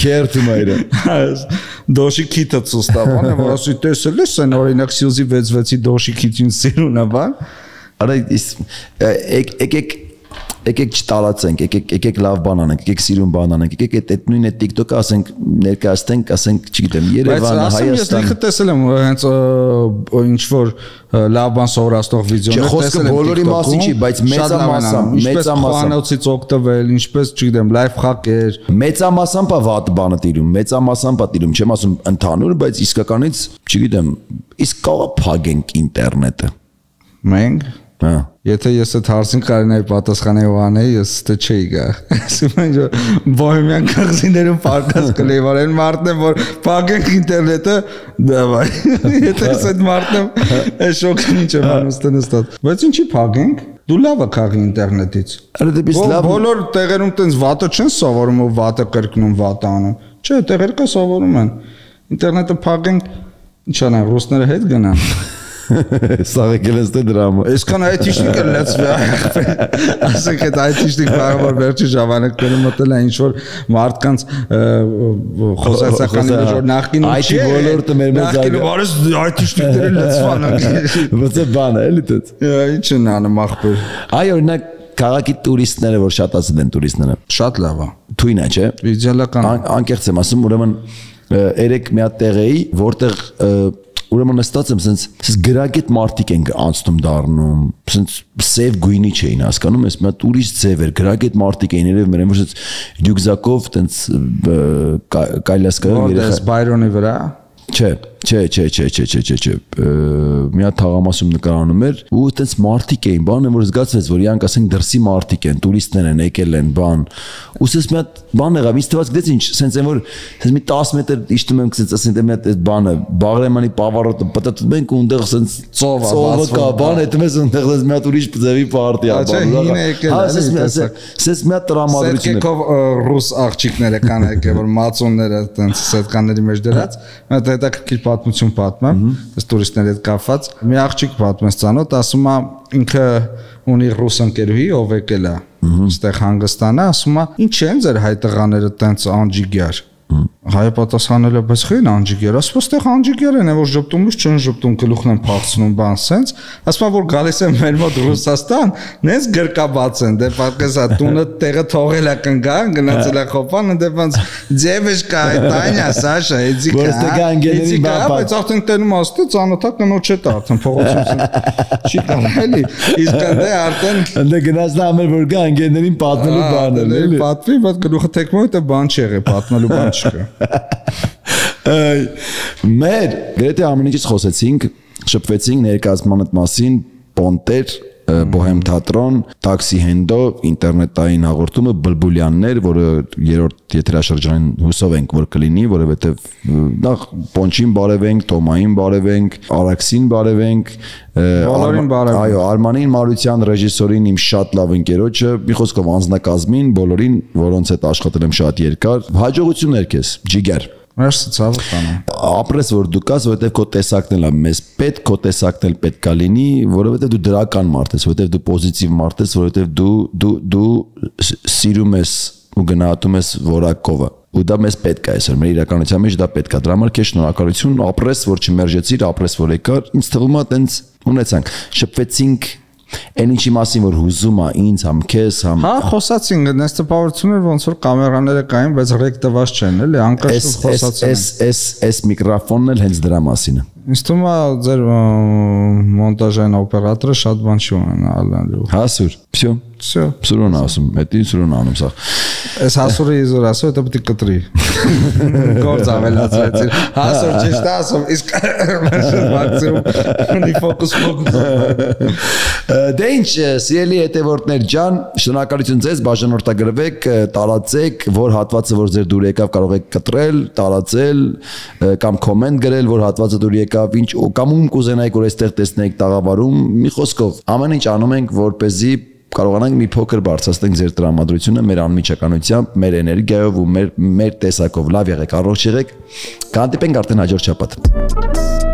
քերթը մայրը։ Դոշի քիթը ցույց տավան, որ ասի տեսել ես, այն օրինակ Սյուզի վեց վեցի դոշի քիթին սիրուն է, բան։ Արա եկեք եկեք չտալացենք, եկեք եկեք լավ բան անենք, եկեք սիրուն բան անենք, եկեք այդ նույն այդ TikTok-ը ասենք ներկայացնենք, ասենք, չգիտեմ, Երևանը, Հայաստանը։ Ես տեսել եմ հենց ինչ որ լավ բան սովորացնող վիդեոներ տեսել եմ։ Խոսքը բոլորի մասին չի, բայց մեծամասամբ, մեծամասամբ խոհանոցից օգտվել, ինչպես, չգիտեմ, լայվ խաղեր։ Մեծամասամբ է վատ բանը տիրում, մեծամասամբ է տիրում, չեմ ասում ընդհանուր, բայց իսկականից, չգիտեմ, իսկ կարող փագենք ինտերնետը։ Մենք Հա Եթե ես այդ հարցին կարենայի պատասխանել ու անեի, ես ստե չէի գա։ Ասում են որ բոհեմյան կղզիներում պարկած կլեի, որ այն մարդն է, որ փակենք ինտերնետը, դավայ։ Եթե ես այդ մարդն եմ, այս շոկն ինչ եմ անում ստենստած։ Բայց ինչի փակենք։ Դու լավ ես քաղի ինտերնետից։ Արա դեպիս լավ։ Բոլոր տեղերում տենց վատը չեն սովորում ու վատը կրկնում, վատը անում։ Չէ, տեղեր կա սովորում են։ Ինտերնետը փակենք, ինչ անեն, ռուսները հետ գնան։ Սաղ եկել ես դե դրամը։ Այսքան այթիշնիկը լեցվի։ Ասենք այդ այթիշնիկ բանը որ վերջի ժամանակներում մտել է ինչ որ մարդկանց խոսացականի մեջ որ նախկինում չի։ Այ ոլորտը մեր մեծ այլ բարես այթիշնիկները լեցվան։ Ո՞ց է բանը, էլի դες։ Ինչ են անում ախպեր։ Այ օրինակ քաղաքի տուրիստները որ շատացել են տուրիստները։ Շատ լավ է։ Թույն է, չէ։ Իդեալական։ Անկեղծ եմ ասում, ուրեմն երեք մի հատ տեղ էի, որտեղ ուրեմն նստած եմ, sense sense գրագետ մարդիկ են անցնում դառնում, sense սև գույնի չէին հասկանում, ես մի հատ ուրիշ ձև էր, գրագետ մարդիկ էին երևի մերեմ, որ sense ռյուկզակով տենց կայլասկա երեխա Բայրոնի վրա։ Չէ, չէ, չէ, չէ, չէ, չէ, չէ, չէ, մի հատ թաղամասում նկարանում էր ու այդպես մարդիկ էին, բանը որ զգացվեց, որ իրանք ասենք դրսի մարդիկ են, տուրիստներ են, եկել են, բան։ Ու սես մի հատ բան եղավ, ինձ թվաց գտեց ինչ, սենց են որ սենց մի տասը մետր իջնում եմ, սենց ասենք մի հատ այդ բանը, Բաղրամյանի պավարոտը պատտում ենք ու այնտեղ սենց ծովը, ծովը կա, բան, այդտեղ ես այնտեղ մի հատ ուրիշ ձևի պարտի ա, բան։ Սենց մի հատ տրամադրություն է։ Ռուս աղջիկները կան եկել, որ մածոնները տենց սետկանների մեջ դրած, մտ հետաքրքիր պատմություն պատմեմ, այս տուրիստների հետ կապված։ Մի աղջիկ պատմեց ցանոթ, ասում է ինքը ունի ռուս ընկերուհի, ով եկել է այստեղ Հանգստանը, ասում է ինչ են ձեր հայ տղաները տենց անջիգյար։ Հայը պատասխանել է, բայց խին անջիգեր, ասում ստեղ անջիգեր են, որ ժպտումից չեն ժպտում, գլուխն են փախցնում, բան սենց, ասում որ գալիս են մեր մոտ Ռուսաստան, նենց գրկաբաց են, դե պատկեզա տունը տեղը թողել է կնգան, գնացել է խոփան, դե ոնց ձևեշկա, Տանյա, Սաշա, Էդիկա, Էդիկա, բայց արդեն տենում աստե ծանոթա կնոջ հետ արդեն փողոցում չի կարելի, իսկ դե արդեն դե գնաց նա ամեր որ գա անգեներին պատմելու բան է, էլի։ Պատվի, բայց գլուխը թեքմոյ դա բան չի եղել, պատմելու բան Մեր գրեթե ամեն ինչից խոսեցինք, շփվեցինք ներկայացման մասին, պոնտեր, բոհեմ թատրոն, տաքսի հենդո, ինտերնետային հաղորդումը, բլբուլյաններ, որը երրորդ եթերաշրջանին հուսով ենք, որ կլինի, որովհետև նախ Պոնչին բարևենք, Տոմային բարևենք, Արաքսին բարևենք, բոլորին բարևենք։ Այո, Արմանին Մարության ռեժիսորին իմ շատ լավ ընկերոջը, մի խոսքով անձնակազմին, բոլորին, որոնց հետ աշխատել եմ շատ երկար, հաջողություններ քեզ, ջիգեր։ Մերսի ցավը տանեմ։ Ապրես որ դու կաս, որովհետև քո տեսակն է մեզ պետք, քո տեսակն էլ պետքա լինի, որովհետև դու դրական մարդ ես, որովհետև դու պոզիտիվ մարդ ես, որովհետև դու դու դու սիրում ես ու գնահատում ես որակովը։ Ու դա մեզ պետք է այսօր, մեր իրականության մեջ դա պետք է։ Դրա համար քեզ շնորհակալություն, ապրես որ չմերժեցիր, ապրես որ եկար։ Ինձ թվում է տենց ունեցանք, շփվեցինք Այն ինչի մասին որ հուզում է ինձ համ քեզ համ Հա խոսացինք դες տպավորություններ ոնց որ կամերաները կային բայց ռեկ տված չեն էլի անկաշուտ խոսացին Էս էս էս միկրոֆոնն էլ հենց դրա մասին է Ինձ թվում է ձեր մոնտաժային օպերատորը շատ բան չի ունենալու։ Հասուր, всё, всё, Սուրոն ասում, հետի Սուրոն անում սա։ Այս հասուրը իզոր ասում, դա պետք է կտրի։ Գործ ավելացրեցին։ Հասուր ճիշտ է ասում, իսկ մաքսիմում ֆոկուս ֆոկուս։ Դե ինչ, սիրելի հետևորդներ ջան, շնորհակալություն ձեզ, բաժանորդագրվեք, տարածեք, որ հատվածը որ ձեր դուր եկավ կարող եք կտրել, տարածել կամ կոմենտ գրել, որ հատվածը դուր եկավ, ինչ կամ ում կուզենայիք որ այստեղ տեսնեիք տաղավարում, մի խոսքով, ամեն ինչ անում ենք, որպեսզի կարողանանք մի փոքր բարձրացնենք ձեր տրամադրությունը մեր անմիջականությամբ, մեր էներգիայով ու մեր մեր տեսակով։ Լավ եղեք, առողջ եղեք։ Կհանդիպենք արդեն հաջորդ շաբաթ։